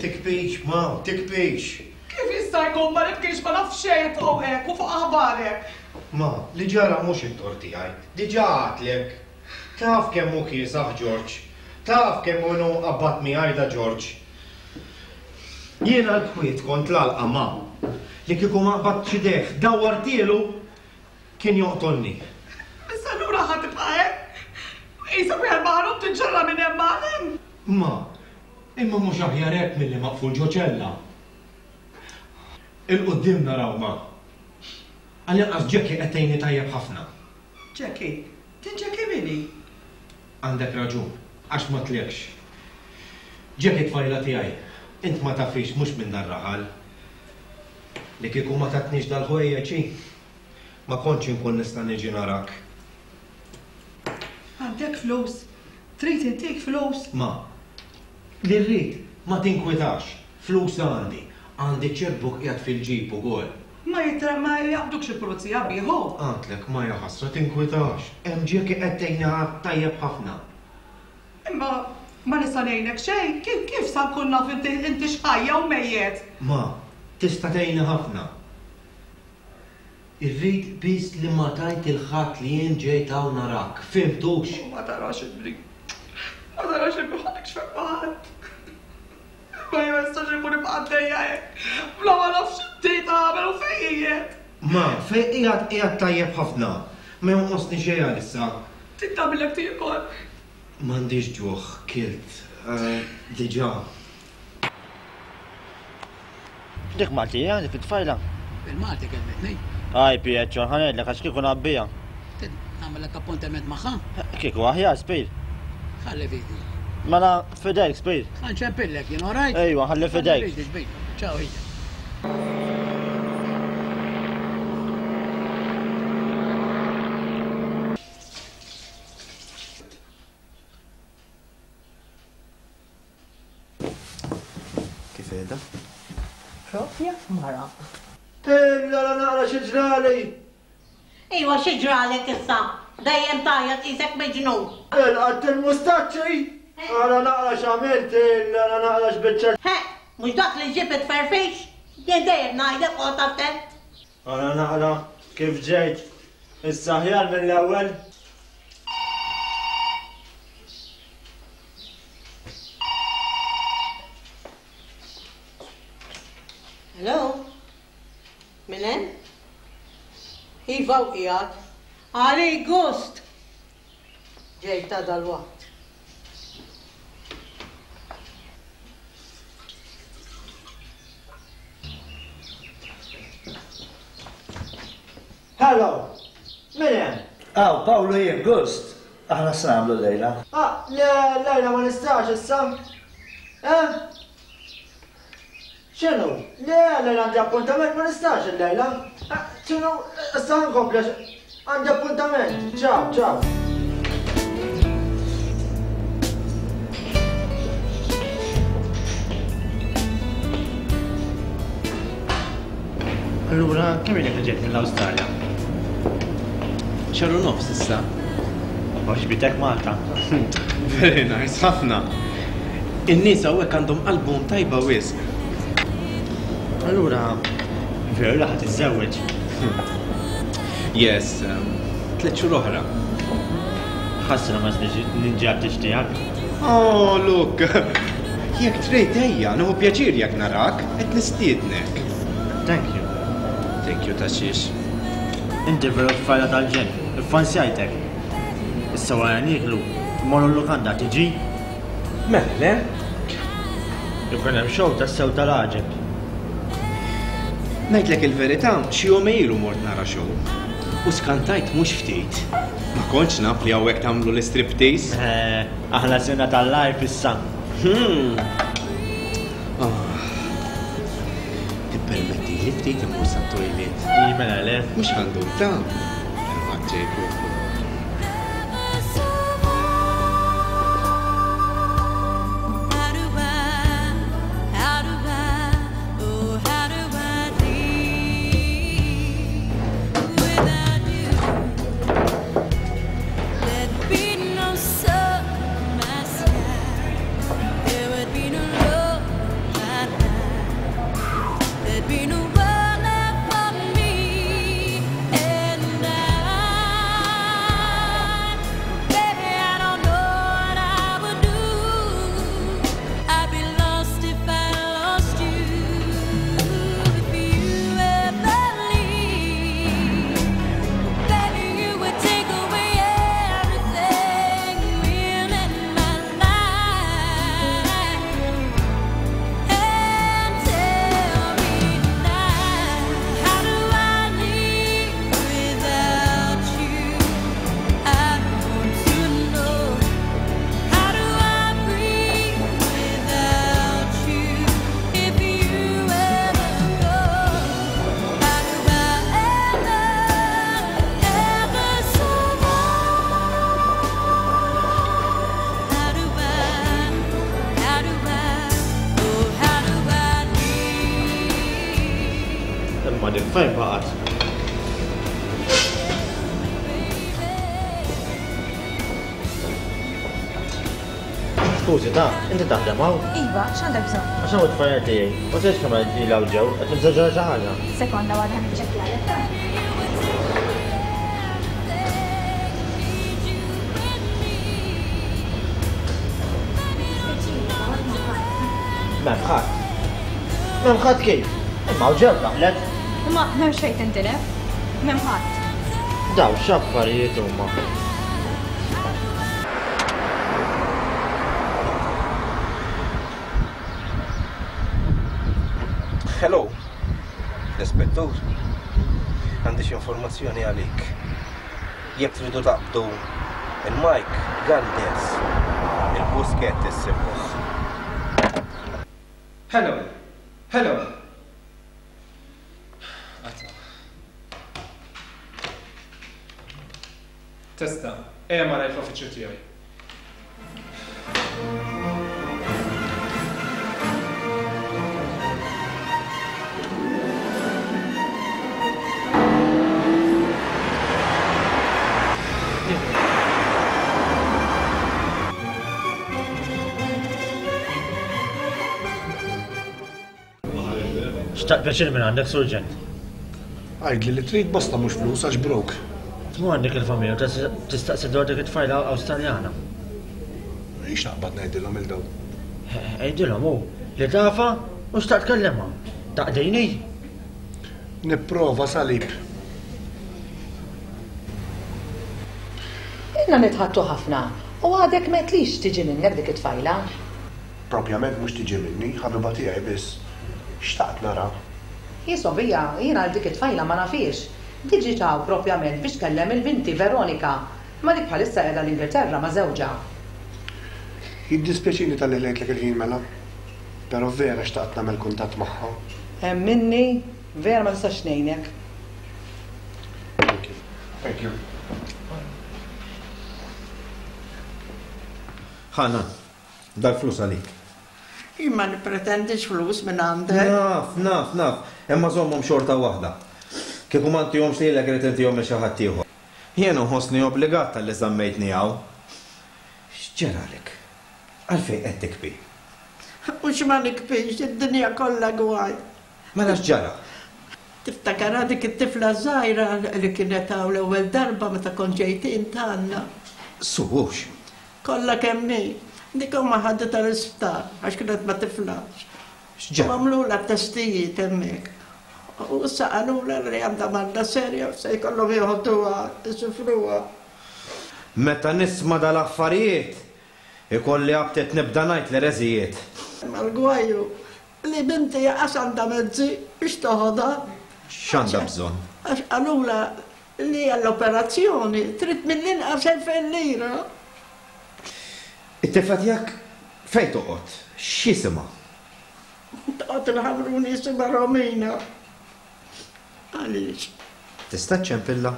Speaker 9: Tikbix, ma, tikbix.
Speaker 10: Kif jista' jkun ma nibkix ma naf xejn fuqek u fuq aħbarek?
Speaker 9: Ma, li ġara mhux it-tort tiegħi. Diġà għadtlek. Taf kemm hu kiesaħ Ġorġ. Taf kemm hu qabad miegħi da Ġorġ. Jiena l-kwiet kont l-għalqa ma. Li kieku ma qbadtx idejh dawwartielu kien joqtolni.
Speaker 10: Issa allura ħa tibqa' hekk? Qisek wieħed maħrub tinġarra minn hemm għal hemm.
Speaker 9: Ma, imma mhux aħjar hekk milli maqful ġo ċella. Il-quddiem naraw ma. Għall-inqas Jackie qed tgħinni tajjeb ħafna.
Speaker 10: Jackie? Din Jackie min hi?
Speaker 9: Għandek raġun, għax ma tlekx. Jackie tfajla tiegħi, int ma tafix mhux minn dar-raħal. Li kieku ma tatnix dal-ħwejjeġ hi, ma kontx inkun nista' niġi narak.
Speaker 10: Għandek flus? Trid intik flus?
Speaker 9: Ma, li rrid, ma tinkwitax, flus għandi. Għandi checkbook qiegħed fil-ġib ukoll.
Speaker 10: Ma jitra ma jaqbdukx il-pulizija bieħu.
Speaker 9: Għandlek ma jaħasra tinkwitax. Hemm Jackie qed tgħinha tajjeb ħafna.
Speaker 10: Imma ma nista' ngħinek xejn, kif, kif sa nkun naf inti, inti x'ħajja u mejjet?
Speaker 9: Ma, tista' tgħinni ħafna. Irrid biss li ma tgħid il-ħadd li jien ġejt hawn narak. Fhimtux?
Speaker 10: Ma tarax ibni.
Speaker 1: Ma tarax li bħalek xfek maħad. Ma jistax ikun ibqa' għaddejja hekk. Bla ma nafx x'intejt għamel u fejn qiegħed.
Speaker 9: Ma, fejn qiegħed qiegħed tajjeb ħafna. Ma jonqosni xejn għalissa.
Speaker 1: Trid tagħmillek tiekol?
Speaker 9: M'għandix ġuħ, kilt. Diġà.
Speaker 5: Dik Maltija, dik it-tfajla.
Speaker 12: Il-Malti kelmetni.
Speaker 5: Aj, Pietro, ħa ngħidlek għax kieku ngħabbija.
Speaker 12: Nagħmellek appuntament magħha?
Speaker 5: Kieku aħjar, Spir.
Speaker 12: Ħalli fidi.
Speaker 5: Mela fidejk, Spir.
Speaker 12: Ħa nċempillek jien, all right?
Speaker 5: Ejwa, ħalli fidejk.
Speaker 12: Ħalli fidi, Ciao, ejja.
Speaker 17: Kif qiegħda?
Speaker 4: Propja mara.
Speaker 5: Illa la naqra xi ġrali!
Speaker 16: Iwa xi ġralek issa? Dejjem tgħajjat qisek miġnun.
Speaker 5: Ilqatt il-mustaċċi! Ara naqra x'għamilt, illa la naqra x'biċċa.
Speaker 16: He, mhux dak li ġib it-tferfix? Jien dejjem ngħidlek oqgħod attent.
Speaker 5: Ara naqra kif ġejt. Issa aħjar mill-ewwel.
Speaker 16: Hello? Min hemm? Iva u qiegħed. Għalik gust! Ġejt ta' dal-waqt.
Speaker 5: Hello! Min hemm?
Speaker 14: Aw, Pawlu jien gust. Aħna se nagħmlu llejla.
Speaker 5: Ah, le, llejla ma nistax issa. Eh? X'inhu? Le, llejla għandi appuntament ma nistax illejla. X'inhu? Issa nkompli għandi appuntament. Ciao, ciao. Allura, kemm ilek li ġejt mill-Awstralja?
Speaker 10: Xahar u nofs issa.
Speaker 5: Għoġbitek Malta.
Speaker 10: Very nice, ħafna. In-nies hawnhekk għandhom qalbhom tajba wisq.
Speaker 5: Allura, veru li ħa tiżżewweġ?
Speaker 10: Yes, um, tliet xhur oħra.
Speaker 5: Ħasra ma ninġabtix tiegħek.
Speaker 10: Oh, look! Jekk trid ejja, nieħu pjaċir jekk narak, qed nistiednek.
Speaker 5: Thank you.
Speaker 10: Thank you ta' xiex.
Speaker 5: Inti veru tfajla tal-ġenn, iffansjajtek. Issa wara nieklu, mmorru l-lukanda tiġi?
Speaker 10: Mela le?
Speaker 5: Ikun hemm show tas-sew tal-għaġeb.
Speaker 10: Ngħidlek il-verità, xi jum ilu mort nara show. U skantajt mhux ftit. Ma kontx naf li hawnhekk tagħmlu l-striptease.
Speaker 5: Eh, aħna sirna tal-life issa.
Speaker 10: Hmm. Ah. Tippermetti li ftit immur sat-toilet.
Speaker 5: Mela le.
Speaker 10: Mhux għandu ta' Għadġej,
Speaker 5: Imma dik fejn baqgħet? Skużi ta, inti taħdem hawn?
Speaker 4: Iva, x'għandek bżonn?
Speaker 5: Għax hawn it-tfajla tiegħi, u tgħidx kemm ilha ġew, qed tibża' xi ħaġa.
Speaker 4: Sekonda waħda niċċekkjalek ta.
Speaker 5: M'hemm ħadd. M'hemm ħadd kif? Imma hawn ġew daħlet.
Speaker 4: Imma m'hemm xejn tintilef. M'hemm ħadd.
Speaker 5: Daw x'affarijiet huma.
Speaker 9: Hello, l-ispettur. Għandi xi informazzjoni għalik. Jekk tridu taqbdu il-Mike Galdes, il-Busquet issibuh.
Speaker 10: Hello, hello. Għatma. Testa, ejja malajr fl-uffiċċju tiegħi.
Speaker 5: Xtaqt pjaċir minn għandek, Surġent.
Speaker 13: Għidli li trid basta mhux flus għax brok.
Speaker 5: Tmur għandek il-familja u tistaqsi dwar dik it-tfajla Awstraljana.
Speaker 13: Ix naqbad ngħidilhom il daw.
Speaker 5: Għidilhom hu li tafa u xtaqt tkellimha. Taqdini?
Speaker 13: Nipprova salib.
Speaker 18: Ilna nitħattu ħafna u għadek m'għedtlix tiġi minnek dik it-tfajla.
Speaker 13: Propjament mhux tiġi minni, ħabiba tiegħi biss. Xtaqt nara.
Speaker 18: Jisobija, jiena għal dik it-tfajla ma nafix. Diġi taw propjament biex kellem il-binti Veronika, ma dik bħalissa qiegħda l-Ingilterra ma' żewġha.
Speaker 13: Jiddispjaċini tal-li ħlejtlek il-ħin mela, però vera xtaqt nagħmel kuntatt magħha.
Speaker 18: Hemm minni, vera ma nistax ngħinek.
Speaker 13: Thank you. Thank you.
Speaker 17: Ħana, dal-flus għalik.
Speaker 16: Jien ma nippretendix flus minn għandek.
Speaker 17: Naf, naf, naf, imma żommhom xorta waħda. Kieku ma ntihomx lilek irid intihom lil xi ħadd ieħor. Jien nħossni obbligat talli żammejtni hawn. X'ġaralek? Għalfejn qed tikbi?
Speaker 16: Mhux ma nikbix, id-dinja kollha gwaj.
Speaker 17: Mela x'ġara?
Speaker 16: Tiftakar dik it-tifla żgħira li kienet hawn l-ewwel darba meta kont ġejt int għandna.
Speaker 17: Suwux.
Speaker 16: Kollha kemm hi. Dik huma ħaditha l-isptar għax kienet ma tiflax.
Speaker 17: X'ġara?
Speaker 16: U għamlulha testijiet hemmhekk. U issa qalulha li għandha marda serja u se jkollhom joħduha, isifruha.
Speaker 17: Meta nisma' dal-affarijiet, ikolli aptit nibda ngħid l-ereżijiet.
Speaker 16: Imma l-gwajju li binti qas għandha mezzi biex toħodha.
Speaker 17: X'għandha bżonn?
Speaker 16: Għax qalulha li għall-operazzjoni trid mill-inqas elfejn lira.
Speaker 17: It-tifla tiegħek fejn toqgħod? X'jisimha?
Speaker 16: Toqgħod il-Ħamrun jisimha Romina. Għaliex?
Speaker 17: Tista' ċċempilla?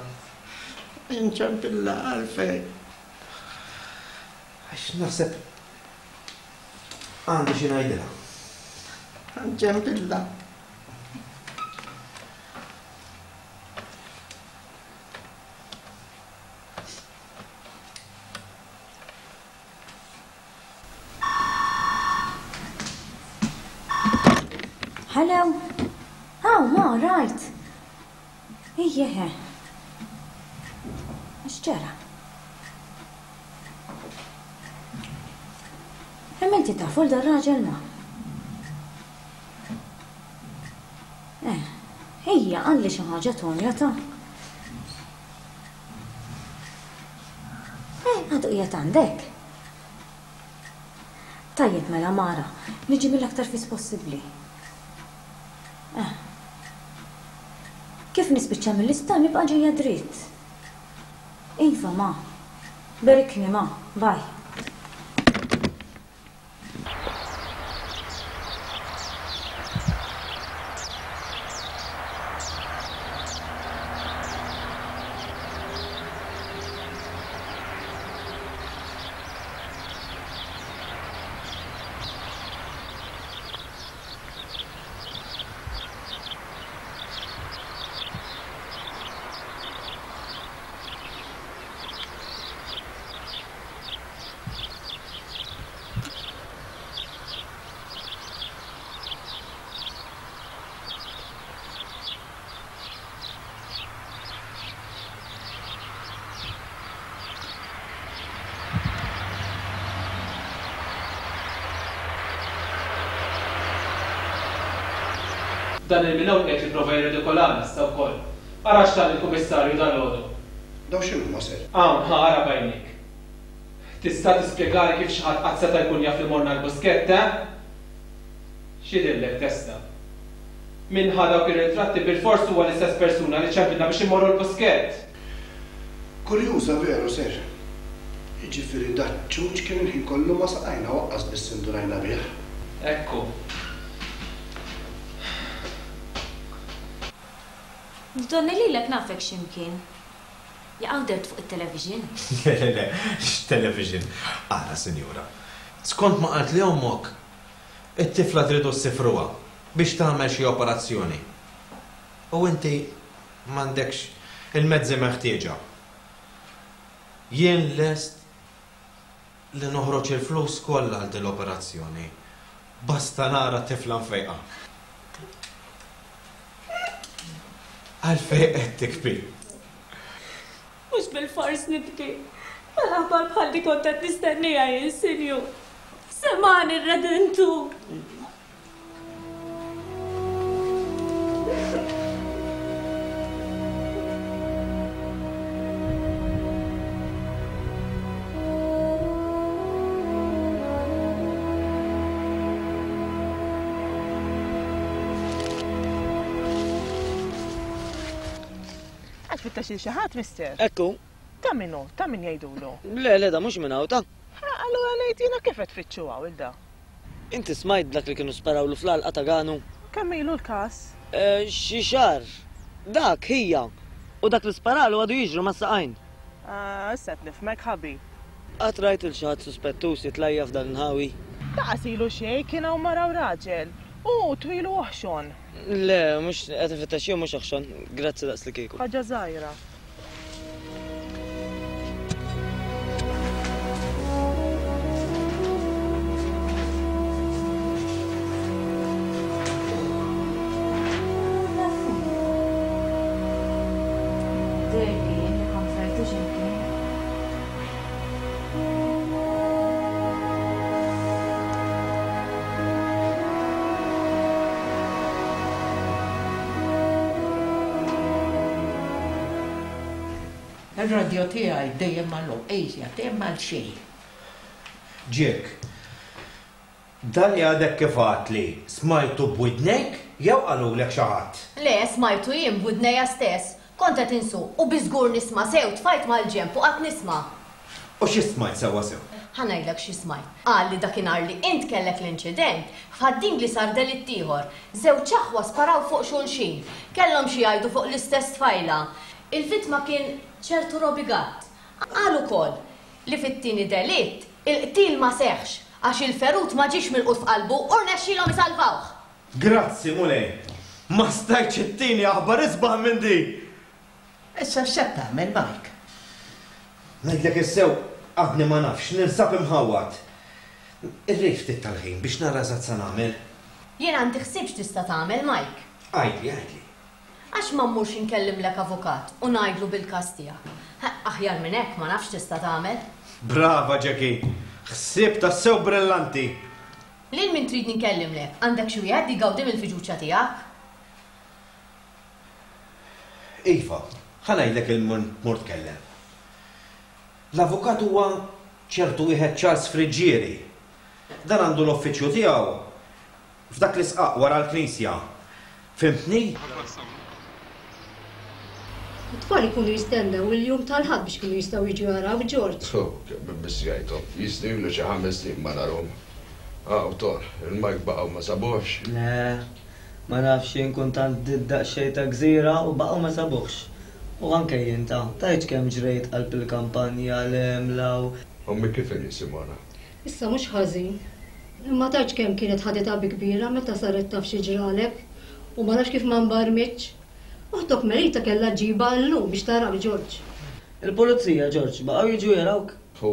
Speaker 16: Inċempilla għalfejn.
Speaker 17: Għax naħseb għandi xi ngħidilha.
Speaker 16: Nċempilla.
Speaker 4: Hello. Oh, ma, right. Ejjeħe. X'ġara? Imma inti tafu l dar-raġel ma? Eh, ejja, qalli xi ħaġa Tonja ta'. Eh, għadu qiegħed għandek. Tajjeb mela Mara, niġi mill-aktar fis possibbli. Eh. Kif nispiċċa mill-isptar nibqa' ġejja dritt. Iva ma. Berikni ma. Bye.
Speaker 10: Dan il-Minow qiegħed jipprova jirridikolana issa wkoll. Ara x'tal il-Kummissarju dalgħodu.
Speaker 13: Dawn x'inhuma, sir?
Speaker 10: Hawn, ħa ara b'għajnejk. Tista' tispjegali kif xi ħadd qatt seta' jkun jaf li morna l-Buskett, eh? X'jidhirlek, Testa? Min ħa dawk ir-ritratti bilfors huwa l-istess persuna li ċemplitna biex immorru l-Buskett!
Speaker 13: Kurjuża veru, sir. Jiġifieri daċ-ċuċ kien il-ħin kollu ma' saqajna u aqqas biss indunajna bih.
Speaker 10: Hekk hu.
Speaker 19: Donni lilek nafek xi mkien. Jaqaw dhert fuq it-television?
Speaker 17: Le, le, le, x'television? Ara, sinjura. Skont ma qaltli ommok, it-tifla tridu ssifruha biex tagħmel xi operazzjoni. U inti m'għandekx il-mezzi meħtieġa. Jien lest li noħroġ il-flus kollha għal din l-operazzjoni. Basta nara t-tifla mfejqa. Għalfejn qed tibki?
Speaker 20: Mhux bilfors nibki. Mela aħbar bħal di kont qed nistenniha jien, Sinjur. Semgħani r-Redentur.
Speaker 18: Qed tfittex lil xi ħadd, mister?
Speaker 5: Ekku.
Speaker 18: Ta' min hu? Ta' min jgħidulu?
Speaker 5: Le, le, da mhux minn hawn, ta'.
Speaker 18: Ha, allura ngħid jiena kif qed tfittxu hawn il da?
Speaker 5: Inti smajt b'dak li kienu sparawlu fl-għalqa ta' Ganu?
Speaker 18: Kemm ilu l-każ?
Speaker 5: Eh, xi xahar. Dak, ħija. U dak li sparalu għadu jiġru mas-saqajn.
Speaker 18: Ah, issa qed nifhmek, ħabib.
Speaker 5: Qatt rajt lil xi ħadd suspettuż jitlajja f'dan l-inħawi?
Speaker 18: Laqas ilu xejn, kien hawn mara u raġel. Hu twil u oħxon.
Speaker 5: Le, mhux qed infittex jien mhux oħxon. Grazzi daqs li kieku.
Speaker 18: Ħaġa żgħira.
Speaker 19: Dehrli jien li kont rajtu xi mkien.
Speaker 16: Ir-radio tiegħi dejjem magħluq, ejja, dejjem għal xejn.
Speaker 17: Jack, dan li għadek kif għadtli smajtu b'widnejk jew qalulek xi ħadd?
Speaker 2: Le, smajtu jien b'widnejja stess. Kont qed insuq u bi żgur nisma' sew tfajt mal-ġenb u qgħadt nisma'.
Speaker 17: U xi smajt sewwa sew?
Speaker 2: Ħa ngħidlek xi smajt. Qal li dakinhar li int kellek l-inċident, f'Ħad-Dingli sar delitt ieħor. Żewġ aħwa sparaw fuq xulxin. Kellhom xi jgħidu fuq l-istess tfajla. Il-vittma kien ċertu Robbie Gatt. Qal ukoll li fit-tieni delitt il-qtil ma seħħx għax il-ferut ma ġiex milqut f'qalbu u rnexxielhom isalvawh.
Speaker 17: Grazzi, Mulej! Ma stajtx ittini aħbar isbaħ minn din!
Speaker 16: Issa x'qed tagħmel, Mike?
Speaker 17: Ngħidlek is-sew, għadni ma nafx, ninsab imħawwad. Irrid ftit tal-ħin biex nara eżatt sa nagħmel.
Speaker 2: Jien għandi ħsieb x'tista' tagħmel, Mike.
Speaker 17: Għidli, għidli.
Speaker 2: Għax ma mmurx inkellimlek avukat u ngħidlu bil-każ tiegħek. Aħjar minn hekk ma nafx tista' tagħmel.
Speaker 17: Brava, Jackie! Ħsieb tassew brillanti!
Speaker 2: Lil min trid ninkellimlek? Għandek xi wieħed li jgawdi mill-fiduċja tiegħek?
Speaker 17: Iva, ħa ngħidlek il min tmur tkellem. L-avukat huwa ċertu wieħed Charles Friggieri. Dan għandu l-uffiċċju tiegħu f'dak l-isqaq wara l-knisja. Fhimtni?
Speaker 21: It-tfal ikunu jistennew il-jum tal-Ħadd biex ikunu jistgħu jiġu jarawk, George.
Speaker 22: Oh, kemm immissjajthom. Jistgħu ilu xi ħames snin ma narhom. Aw, Ton, il-Mike baqgħu ma sabuhx.
Speaker 5: Le, ma nafx jien kont għand daqsxejn ta' gżira u baqgħu ma sabuhx. U anke jien ta' tgħidx kemm ġrejt qalb il-kampanja 'l hemm 'l hawn.
Speaker 22: Ommi kif inhi, Simona?
Speaker 21: Issa mhux ħażin. Imma tgħidx kemm kienet ħaditha bi kbira meta saret taf xi ġralek u ma nafx kif ma nbarmitx. Oħtok Melita kellha ġġibha llum biex tarak, George.
Speaker 5: Il-pulizija, George, baqgħu jiġu jarawk?
Speaker 22: U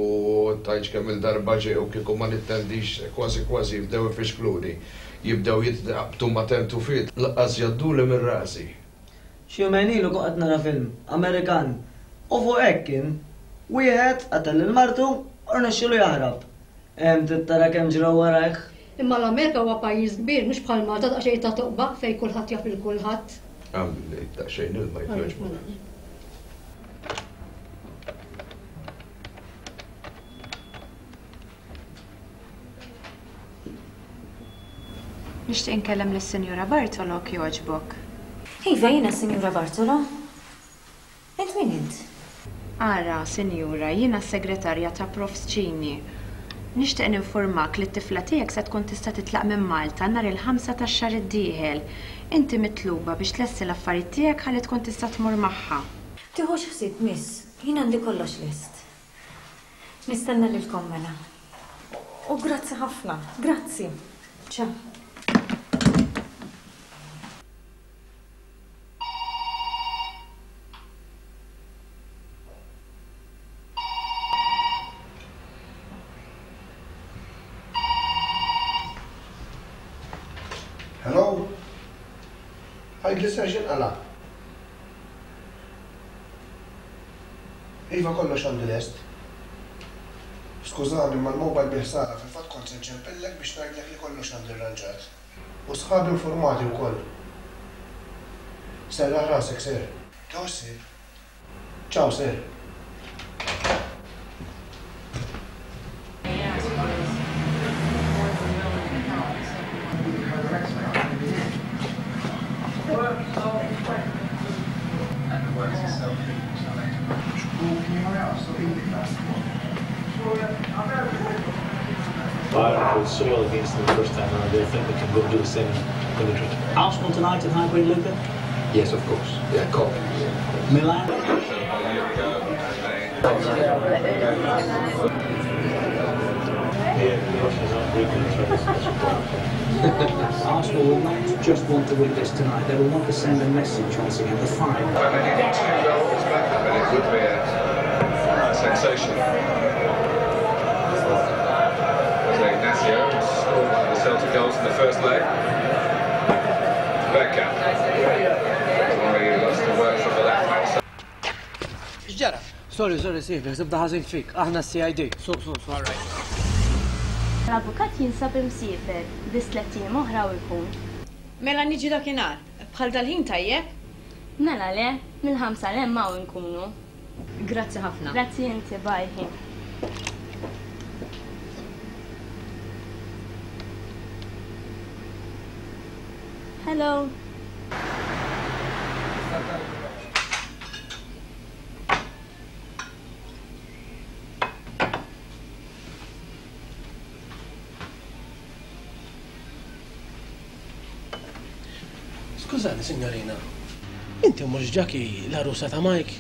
Speaker 22: tgħidx kemm il-darba ġew kieku ma nittendix kważi kważi jibdew ifixkluni. Jibdew jitqabtu ma' tentufiet lanqas jgħadduli minn rasi.
Speaker 5: Xi jumejn ilu kont qed nara film Amerikan u fuq hekk kien. Wieħed qatel lil martu u rnexxielu jaħrab. Hemm trid tara kemm ġraw warajh.
Speaker 21: Imma l-Amerika huwa pajjiż kbir, mhux bħal Malta daqsxejn ta' toqba fejn kulħadd jaf lil kulħadd.
Speaker 22: Għamli daqsxejn ilma jekk jogħġbok.
Speaker 6: Nixtieq inkellem lis-Sinjura Bartolo jogħġbok.
Speaker 19: Iva, jiena Sinjura Bartolo. Int min int?
Speaker 6: Ara, Sinjura, jiena s-segretarja ta' Prof Cini. Nixtieq ninformak li t-tifla tiegħek se tkun tista' titlaq minn Malta nhar il-ħamsa tax-xahar id-dieħel. Inti mitluba biex tlessi l-affarijiet tiegħek ħalli tkun tista' tmur magħha.
Speaker 19: Tiħux ħsieb, miss, jien għandi kollox lest. Nistenna lilkom mela. U grazzi ħafna, grazzi. Ciao.
Speaker 13: Hello? Għajd li ser xinqala? Iva kollox għandi lest. Skużani, ma l-mobile bi ħsara, fil-fatt kont se nċempillek biex ngħidlek li kollox għandi rranġat. U sħabi informati wkoll. Serraħ rasek, sir. Tħossib. Ciao, sir.
Speaker 8: Bayern played so well against them the first time round, they think they can go do the same in Madrid.
Speaker 12: Arsenal tonight at Highbury, Luca?
Speaker 22: Yes, of course. Yeah, cop.
Speaker 12: Milan?
Speaker 8: Yeah, the Russians aren't very good at
Speaker 12: Arsenal will not just want to win this tonight, they will want to send a message once again, the five.
Speaker 22: And they get two goals back, and it would be a sensation. Jose Ignacio scored one of the Celtic goals in the first leg. Bergkamp. Tomori lost the work from the left back side.
Speaker 5: X'ġara? Sorry, sorry, Silvia, sibda ħażin fik. Aħna C I D. So, so, so, all right.
Speaker 20: L-avukat jinsab imsiefer, biss tliet ijiem oħra u jkun.
Speaker 2: Mela niġi dakinhar, bħal dal-ħin tajjeb?
Speaker 20: Mela le, mill-ħamsa l hemm hawn inkunu.
Speaker 2: Grazzi ħafna.
Speaker 20: Grazzi inti, bye. Hello.
Speaker 23: Skużani, signorina, inti mhux Jackie l-għarusa ta' Mike?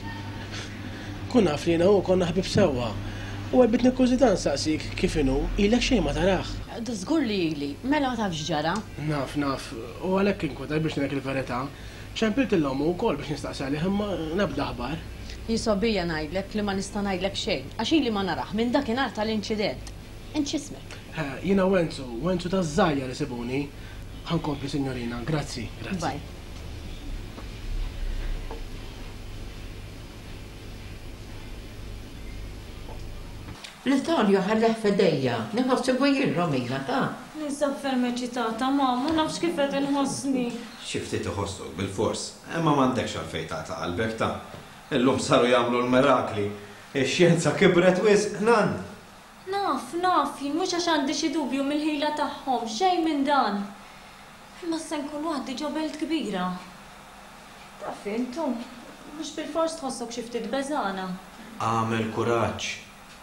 Speaker 23: Kun naf li jiena u konna ħbib sewwa. U għalbitni kurżità nsaqsik kif inhu, ilek xejn ma tarah.
Speaker 2: Da żgur li ili, mela ma tafx ġara.
Speaker 23: Naf, naf, u għalhekk inkwetaj biex ngħidlek il-verità. Ċempilt il-ommu wkoll biex nistaqsi għalih imma nabda aħbar.
Speaker 2: Jisobija ngħidlek li ma nista' ngħidlek xejn, għax ili ma narah minn dakinhar tal-inċident. Int x'ismek?
Speaker 23: Jiena Wenzu, Wenzu taż-żgħira li sibuni. Ħankompli, signorina, grazzi, grazzi.
Speaker 2: Bye.
Speaker 16: L-Italja ħalleħ f'idejja, nħossibu jien Romina, ta'
Speaker 20: Ninsab ferm eċitata, mamma, ma nafx kif qed inħossni.
Speaker 17: Xi ftit iħossok bil-fors, imma m'għandekx għalfejn taqta' qalbek ta'. Illum saru jagħmlu l-mirakli. Ix-xjenza kibret wisq, nan.
Speaker 20: Naf, naf, jien mhux għax għandi xi dubju mill-ħila tagħhom, xejn minn dan. Imma se nkun waħdi ġo belt kbira. Taf intu, mhux bil-fors tħossok xi ftit beżana.
Speaker 17: Għamel kuraġġ.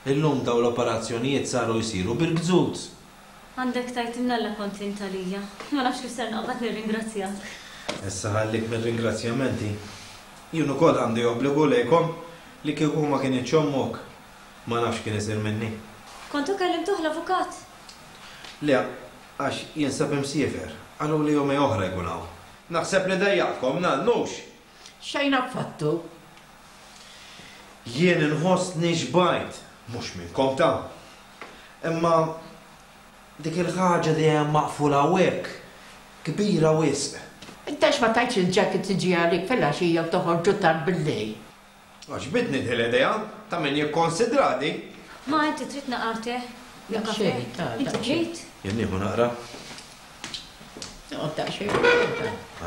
Speaker 17: Illum daw l-operazzjonijiet saru jsiru bil-gżuz.
Speaker 20: Għandek tajt imnalla kont intalija. Ma nafx kif ser naqbad nirringrazzjak.
Speaker 17: Issa ħallik mir-ringrazzjamenti. Jien ukoll għandi obbligu lejkom li kieku ma kienx ommok. Ma nafx kien isir minni.
Speaker 20: Kontu kellimtuh l-avukat?
Speaker 17: Le, għax jinsab imsiefer. Qalu li jumej oħra jkun hawn. Naħseb li dejjaqkom nannux.
Speaker 16: Xejn affattu.
Speaker 17: Jien inħossni xbajt, mhux minnkom ta'. Imma dik il-ħaġa dejjem maqfula hawnhekk, kbira wisq.
Speaker 16: Inta ma tajtx il-jacket tiġi għalik fil-għaxija u toħorġu tard bil-lejl.
Speaker 17: Għax bidni din l-idea ta' min jikkonsidradi.
Speaker 20: Ma inti trid naqarte.
Speaker 16: Daqsxejn, ta'
Speaker 20: Inti trid?
Speaker 17: Jien nieħu naqra.
Speaker 16: Noqgħod daqsxejn.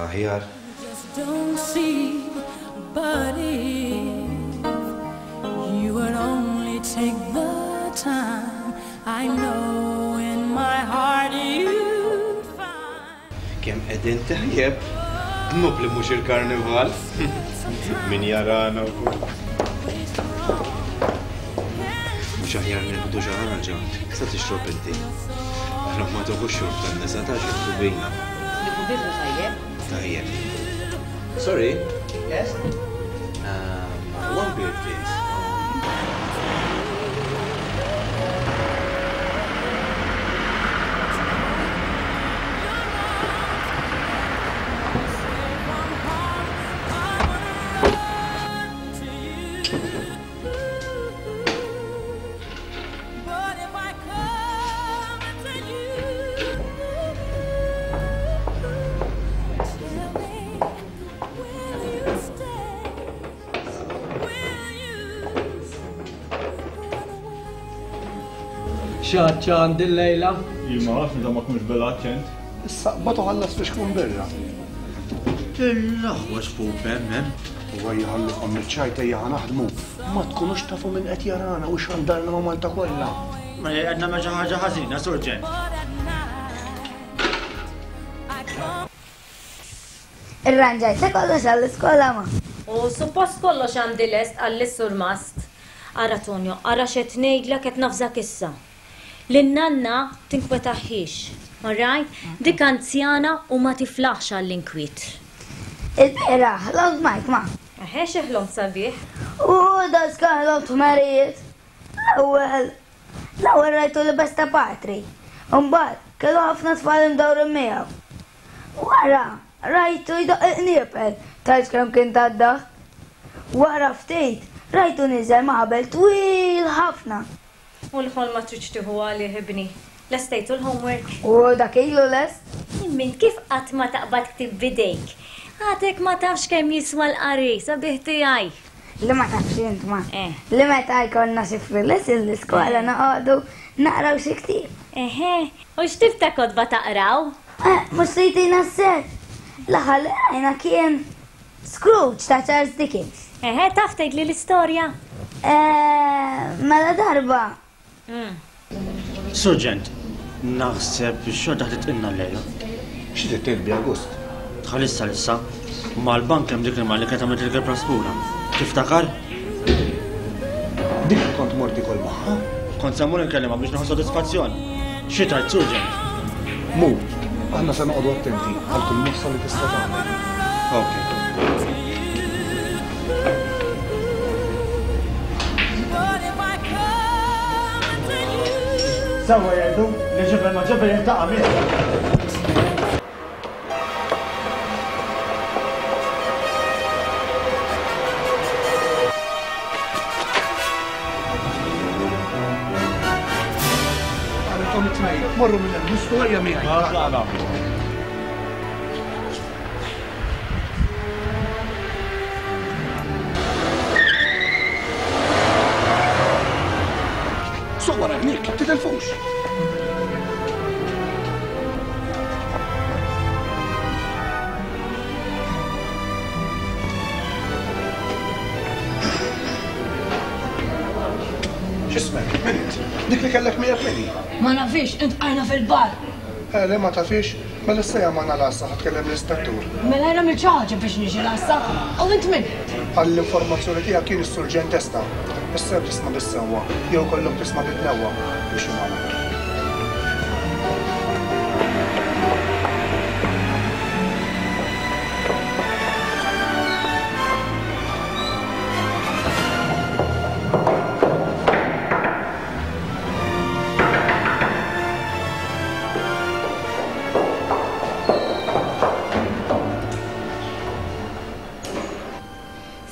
Speaker 17: Aħjar.
Speaker 3: Just don't see, but if you would only take the time, I know in my heart you'd
Speaker 17: Kemm qegħdin tajjeb. Dnub li mhux il-karnival. Min jarana wkoll. Mhux aħjar nieħdu xi ħaġa, sa tixrob inti. Aħna ma toħux xorb tan-nisa ta' xi bina.
Speaker 4: Nieħu birra tajjeb.
Speaker 17: Tajjeb. Sorry.
Speaker 5: Yes?
Speaker 17: Um, one beer, please.
Speaker 3: But if I come to you, tell me, will you stay? Will you run away?
Speaker 10: Xaċċa għandi l-lejla?
Speaker 8: Jien ma nafx meta ma tkunx bil-aċċent.
Speaker 13: Issa qbad u ħallas biex tkun birra.
Speaker 14: Il-aħwa xfuq hemm hemm.
Speaker 13: U ejja ħallukom miċ-ċajt ejja ħa naħdmu. Ma tkunux tafu min qed jarana u xandarna ma' Malta kollha.
Speaker 5: Ma qed nagħmel xi ħaġa ħażina, Surġent.
Speaker 15: Irranġajt kollox għall-iskola ma.
Speaker 20: U suppost kollox għandi lest għall-surmast. Ara Tonio, ara xed ngħidlek qed nafżak issa. Lin-nanna tinkwetaħħiex, all right? Dik anzjana u ma tiflaħx għall-inkwiet.
Speaker 15: Il-bieraħ, ħlomt Mike ma.
Speaker 20: Eħe xi ħlomt sabiħ.
Speaker 15: U daska ħlomt ħmerijiet. L-ewwel, l-ewwel rajtu li besta patri. Imbagħad kellu ħafna tfal imdawrin miegħu. Wara, rajtu jdoq il-qniepel, tgħid kemm kien taddaħ. Wara ftit, rajtu niżel ma' ħabel twil ħafna.
Speaker 20: U l-ħolma tridx tieħu għalih ibni. Lestejtu l-homework.
Speaker 15: U dak ilu lest.
Speaker 20: Min kif qatt ma taqbad ktib bidejk? Għadek ma tafx kemm jiswa l-qari, sabiħ tiegħi.
Speaker 15: Li ma tafx int ma. Li meta jkollna xi free lesson l-iskola noqogħdu naqraw xi ktieb.
Speaker 20: Eħe, u x'tip ta' kotba taqraw?
Speaker 15: Eh, mhux se jtina s-ser. L-aħħar li qrajna kien Scrooge ta' Charles Dickens.
Speaker 20: Eħe, taf tgħidli l-istorja?
Speaker 15: Eh, mela darba.
Speaker 5: Surġent, naħseb xorta ħadd l-lejla.
Speaker 13: Xi trid tgħid bi August?
Speaker 5: Tħallissa issa, mal-bank hemm dik il-mara li kienet għamlet il-kelb raspura. Tiftakar?
Speaker 13: Dik li kont mort ikol magħha?
Speaker 5: Kont se mmur inkellimha biex nieħu sodisfazzjon. Xi tgħid Surġent?
Speaker 13: Mur, aħna se noqogħdu attenti għal kull mossa li tista' tagħmel.
Speaker 5: Ok.
Speaker 3: But if I come to you,
Speaker 5: Sewwa jgħidu li ġebel ma' ġebel jiltaqa' miegħek.
Speaker 13: Għarritom it-tnejn, morru minn hemm, nistu ejja miegħi. Suq wara hniek, titilfux. X'ismek, min int? Dik li kellek miegħek min hi?
Speaker 21: Ma nafix, intqajna fil-bar.
Speaker 13: Eh, le ma tafix, mela issa hija magħna l-għassa ħa tkellem l-ispettur.
Speaker 21: Mela jien għamilt xi ħaġa biex niġi l-għassa. U int min?
Speaker 13: Għall-informazzjoni tiegħek kien is-surġent Testa. Issa jew tisma' bis-sewwa, jew kollok tisma' bid-dnewwa biex magħna.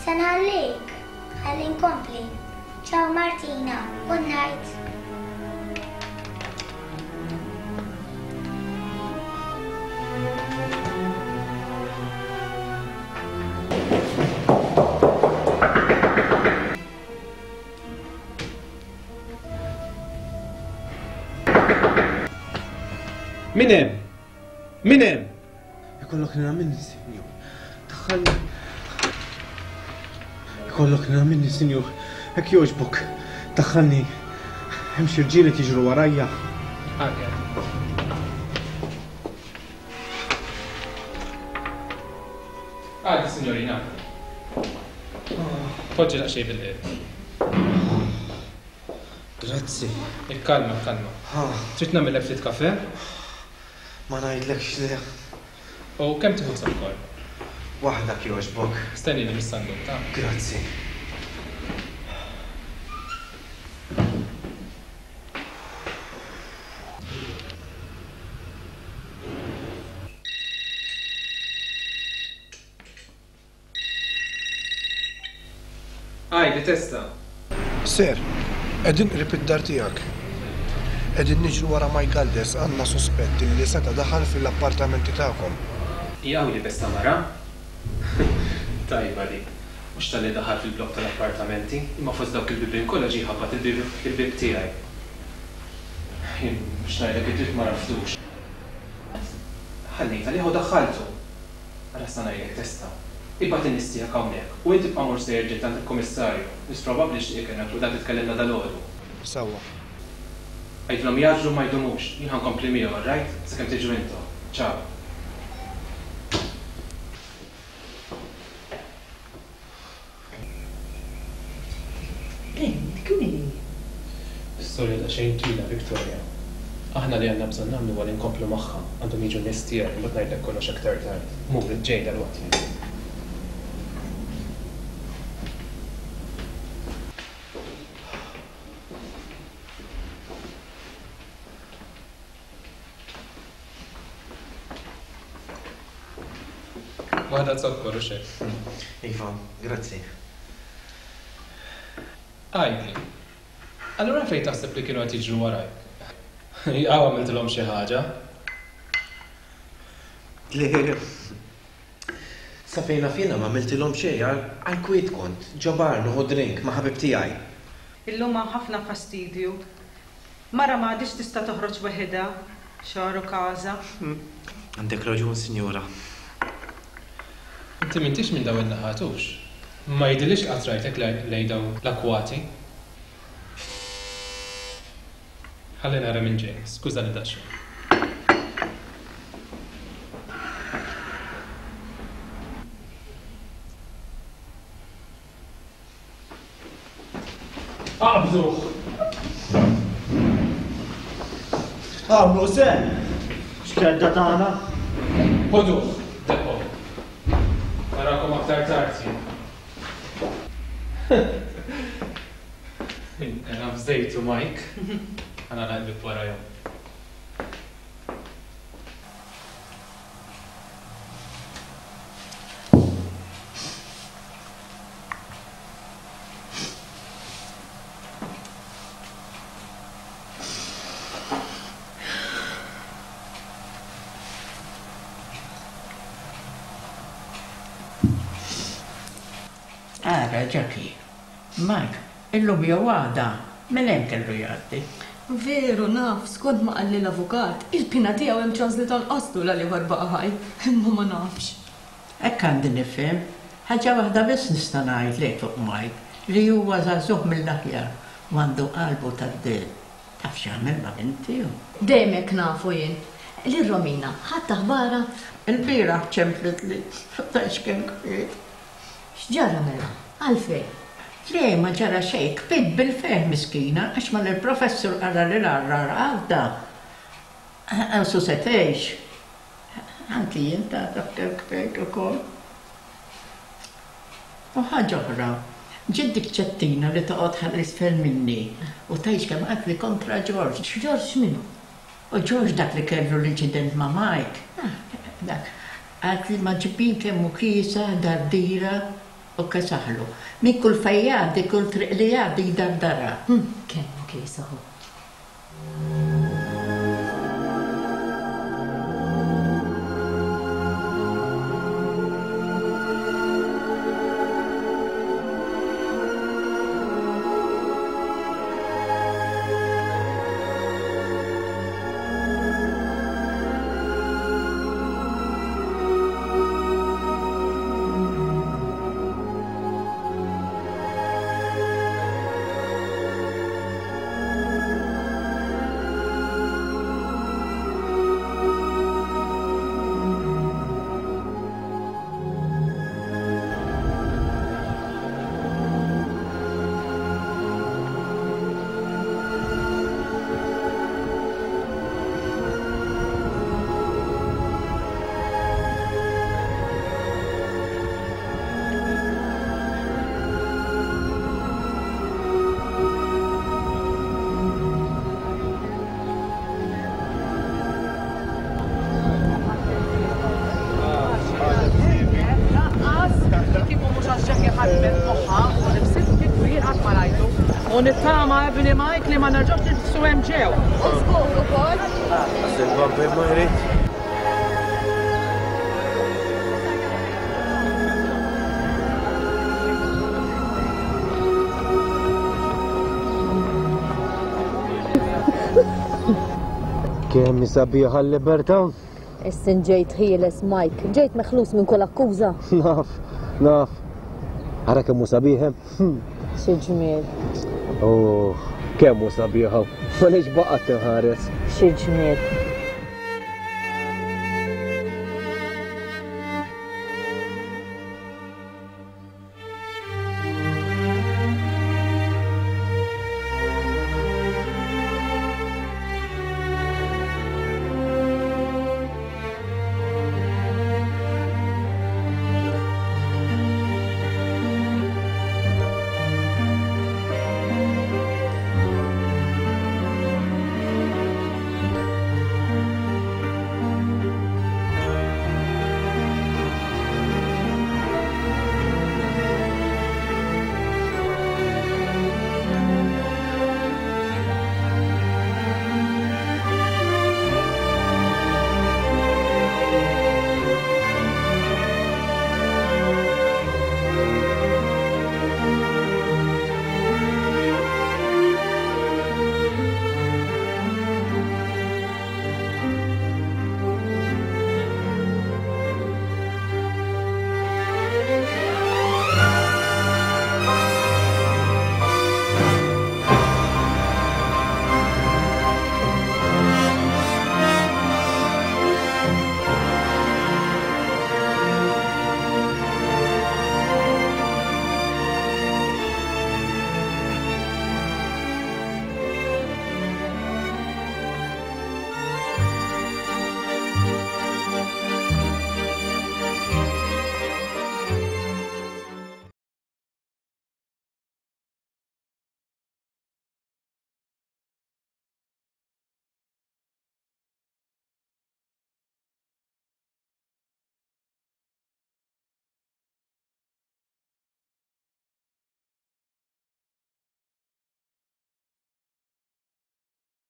Speaker 15: Se nħallik, ħalli nkompli. Ciao Martina, good night.
Speaker 10: Min hemm? Min hemm?
Speaker 9: Ikollok nina minni, sinjur. Daħħalni. Ikollok nina minni, sinjur. Hekk jogħġbok. Daħħalni. Hemm xi rġiel qed jiġru warajja.
Speaker 10: Għaddi, signorina. Poġġi daqsxejn bil-qiegħed.
Speaker 9: Grazzi.
Speaker 10: Ikkalma, ikkalma. Trid nagħmellek ftit kafè?
Speaker 9: Ma ngħidlekx le.
Speaker 10: U kemm tieħu zokkor?
Speaker 9: Waħda jogħġbok.
Speaker 10: Stennini mis-sanduk, ta'.
Speaker 9: Grazzi.
Speaker 10: Għajdi, testa.
Speaker 13: Sir, qegħdin qrib id-dar tiegħek. Qegħdin niġru wara Mike Galdes, għandna suspett li seta' daħal fil-appartamenti tagħkom.
Speaker 10: Jaqaw li besta mara? Tajba dik. Mhux talli daħal fil-blokk tal-appartamenti, imma fost dawk il-bibien kollha ġie jħabbat il-bieb tiegħi. Jien biex ngħidlek id-dritt ma raftux. Ħallejt għalih u daħħaltu. Ara sa ngħidlek testa. Ibgħat in-nies tiegħek hawnhekk u inti tibqa' mur sejjer ġiet għand il-kummissarju. Wis probabbli xtieq ikellmek u dan titkellimna dalgħodu.
Speaker 13: Sewwa.
Speaker 10: Għidilhom jgħaġġlu ma jdumux, jien ħa nkompli miegħu, all right? Sakemm tiġu intom. Ciao.
Speaker 4: Ben, dik min hi?
Speaker 10: Storja daqsxejn twila, Victoria. Aħna li għandna bżonn nagħmlu huwa li nkomplu magħha, għandhom jiġu n-nies tiegħi, imbagħad ngħidlek kollox aktar tard. Mur, ġej dalwaqt jien. Waħda zokkor u xejn.
Speaker 17: Iva, grazzi.
Speaker 10: Għidli, allura fejn taħseb li kienu qed jiġru warajk? Jaqaw għamiltilhom xi ħaġa?
Speaker 17: Le, sa fejn naf jiena ma għamiltilhom xejn, għal kwiet kont, ġo bar nieħu drink ma' ħabib tiegħi.
Speaker 1: Illum hawn ħafna fastidju. Mara ma għadhiex tista' toħroġ weħidha, xagħar u każa.
Speaker 17: Għandek raġun, sinjura.
Speaker 10: Inti m'intix minn dawn in-naħat hux. Ma jidhirlix li qatt rajtek lejn dawn l-akkwati. Ħalli nara minn ġej, skużani daqsxejn. Aqbduh!
Speaker 5: Għamlu sen! X'kedda tagħna?
Speaker 10: Ħoduh, depo. Narakom aktar tard jien. Ena fżejtu Mike. Għana naqlib warajhom.
Speaker 16: Ara, Jackie, Mike, illum jew għada, minn hemm kellu jgħaddi.
Speaker 2: Veru naf, skont ma qalli l-avukat, il-pina tiegħu hemm ċans li tonqoslu l ieħor baqa' ħaj, imma ma nafx.
Speaker 16: Hekk għandi nifhem, ħaġa waħda biss nista' ngħidlek fuq Mike, li huwa żagħżugħ mill-aħjar u għandu qalbu tad-dell. Taf x'għamel ma' binti hu.
Speaker 2: Dejjem hekk nafu jien. Lil Romina, ħadt aħbarha?
Speaker 16: Il-bieraħ ċemplitli, tgħidx kemm kbiet.
Speaker 2: X'ġara mela? Għalfejn?
Speaker 16: Le, ma ġara xejn, kbiet bil-ferħ miskina, għax mal il-professur qara li l-għarrar għadda. Għansu se tgħix. Anki jien tagħraf kemm kbiet ukoll. U ħaġa oħra, ġiet dik ċettina li toqgħod ħalli isfel minni u tgħix kemm qatli kontra George.
Speaker 2: George minnu?
Speaker 16: U George dak li kellu l-inċident ma' Mike. Dak, qalt li ma ġibin kemm hu kiesa, dardira u kesaħlu. Min kull fejn jgħaddi, kull triq li jgħaddi jdardarha.
Speaker 2: Kemm hu kiesa hu.
Speaker 10: U nittama ibni Mike li ma nerġgħux nifsu hemm ġew.
Speaker 7: U żgur ukoll.
Speaker 9: Il-bambin ma jrid. Kemm hi sabiħa l-libertà?
Speaker 4: Issa ġejt ħieles, Mike. Ġejt meħlus minn kull akkuża.
Speaker 9: Naf, naf. Ara kemm hu sabiħ.
Speaker 4: Xi ġmiel.
Speaker 9: Oh, kemm hu sabiħa. Għaliex baqgħet tinħares.
Speaker 4: Xi ġmiel.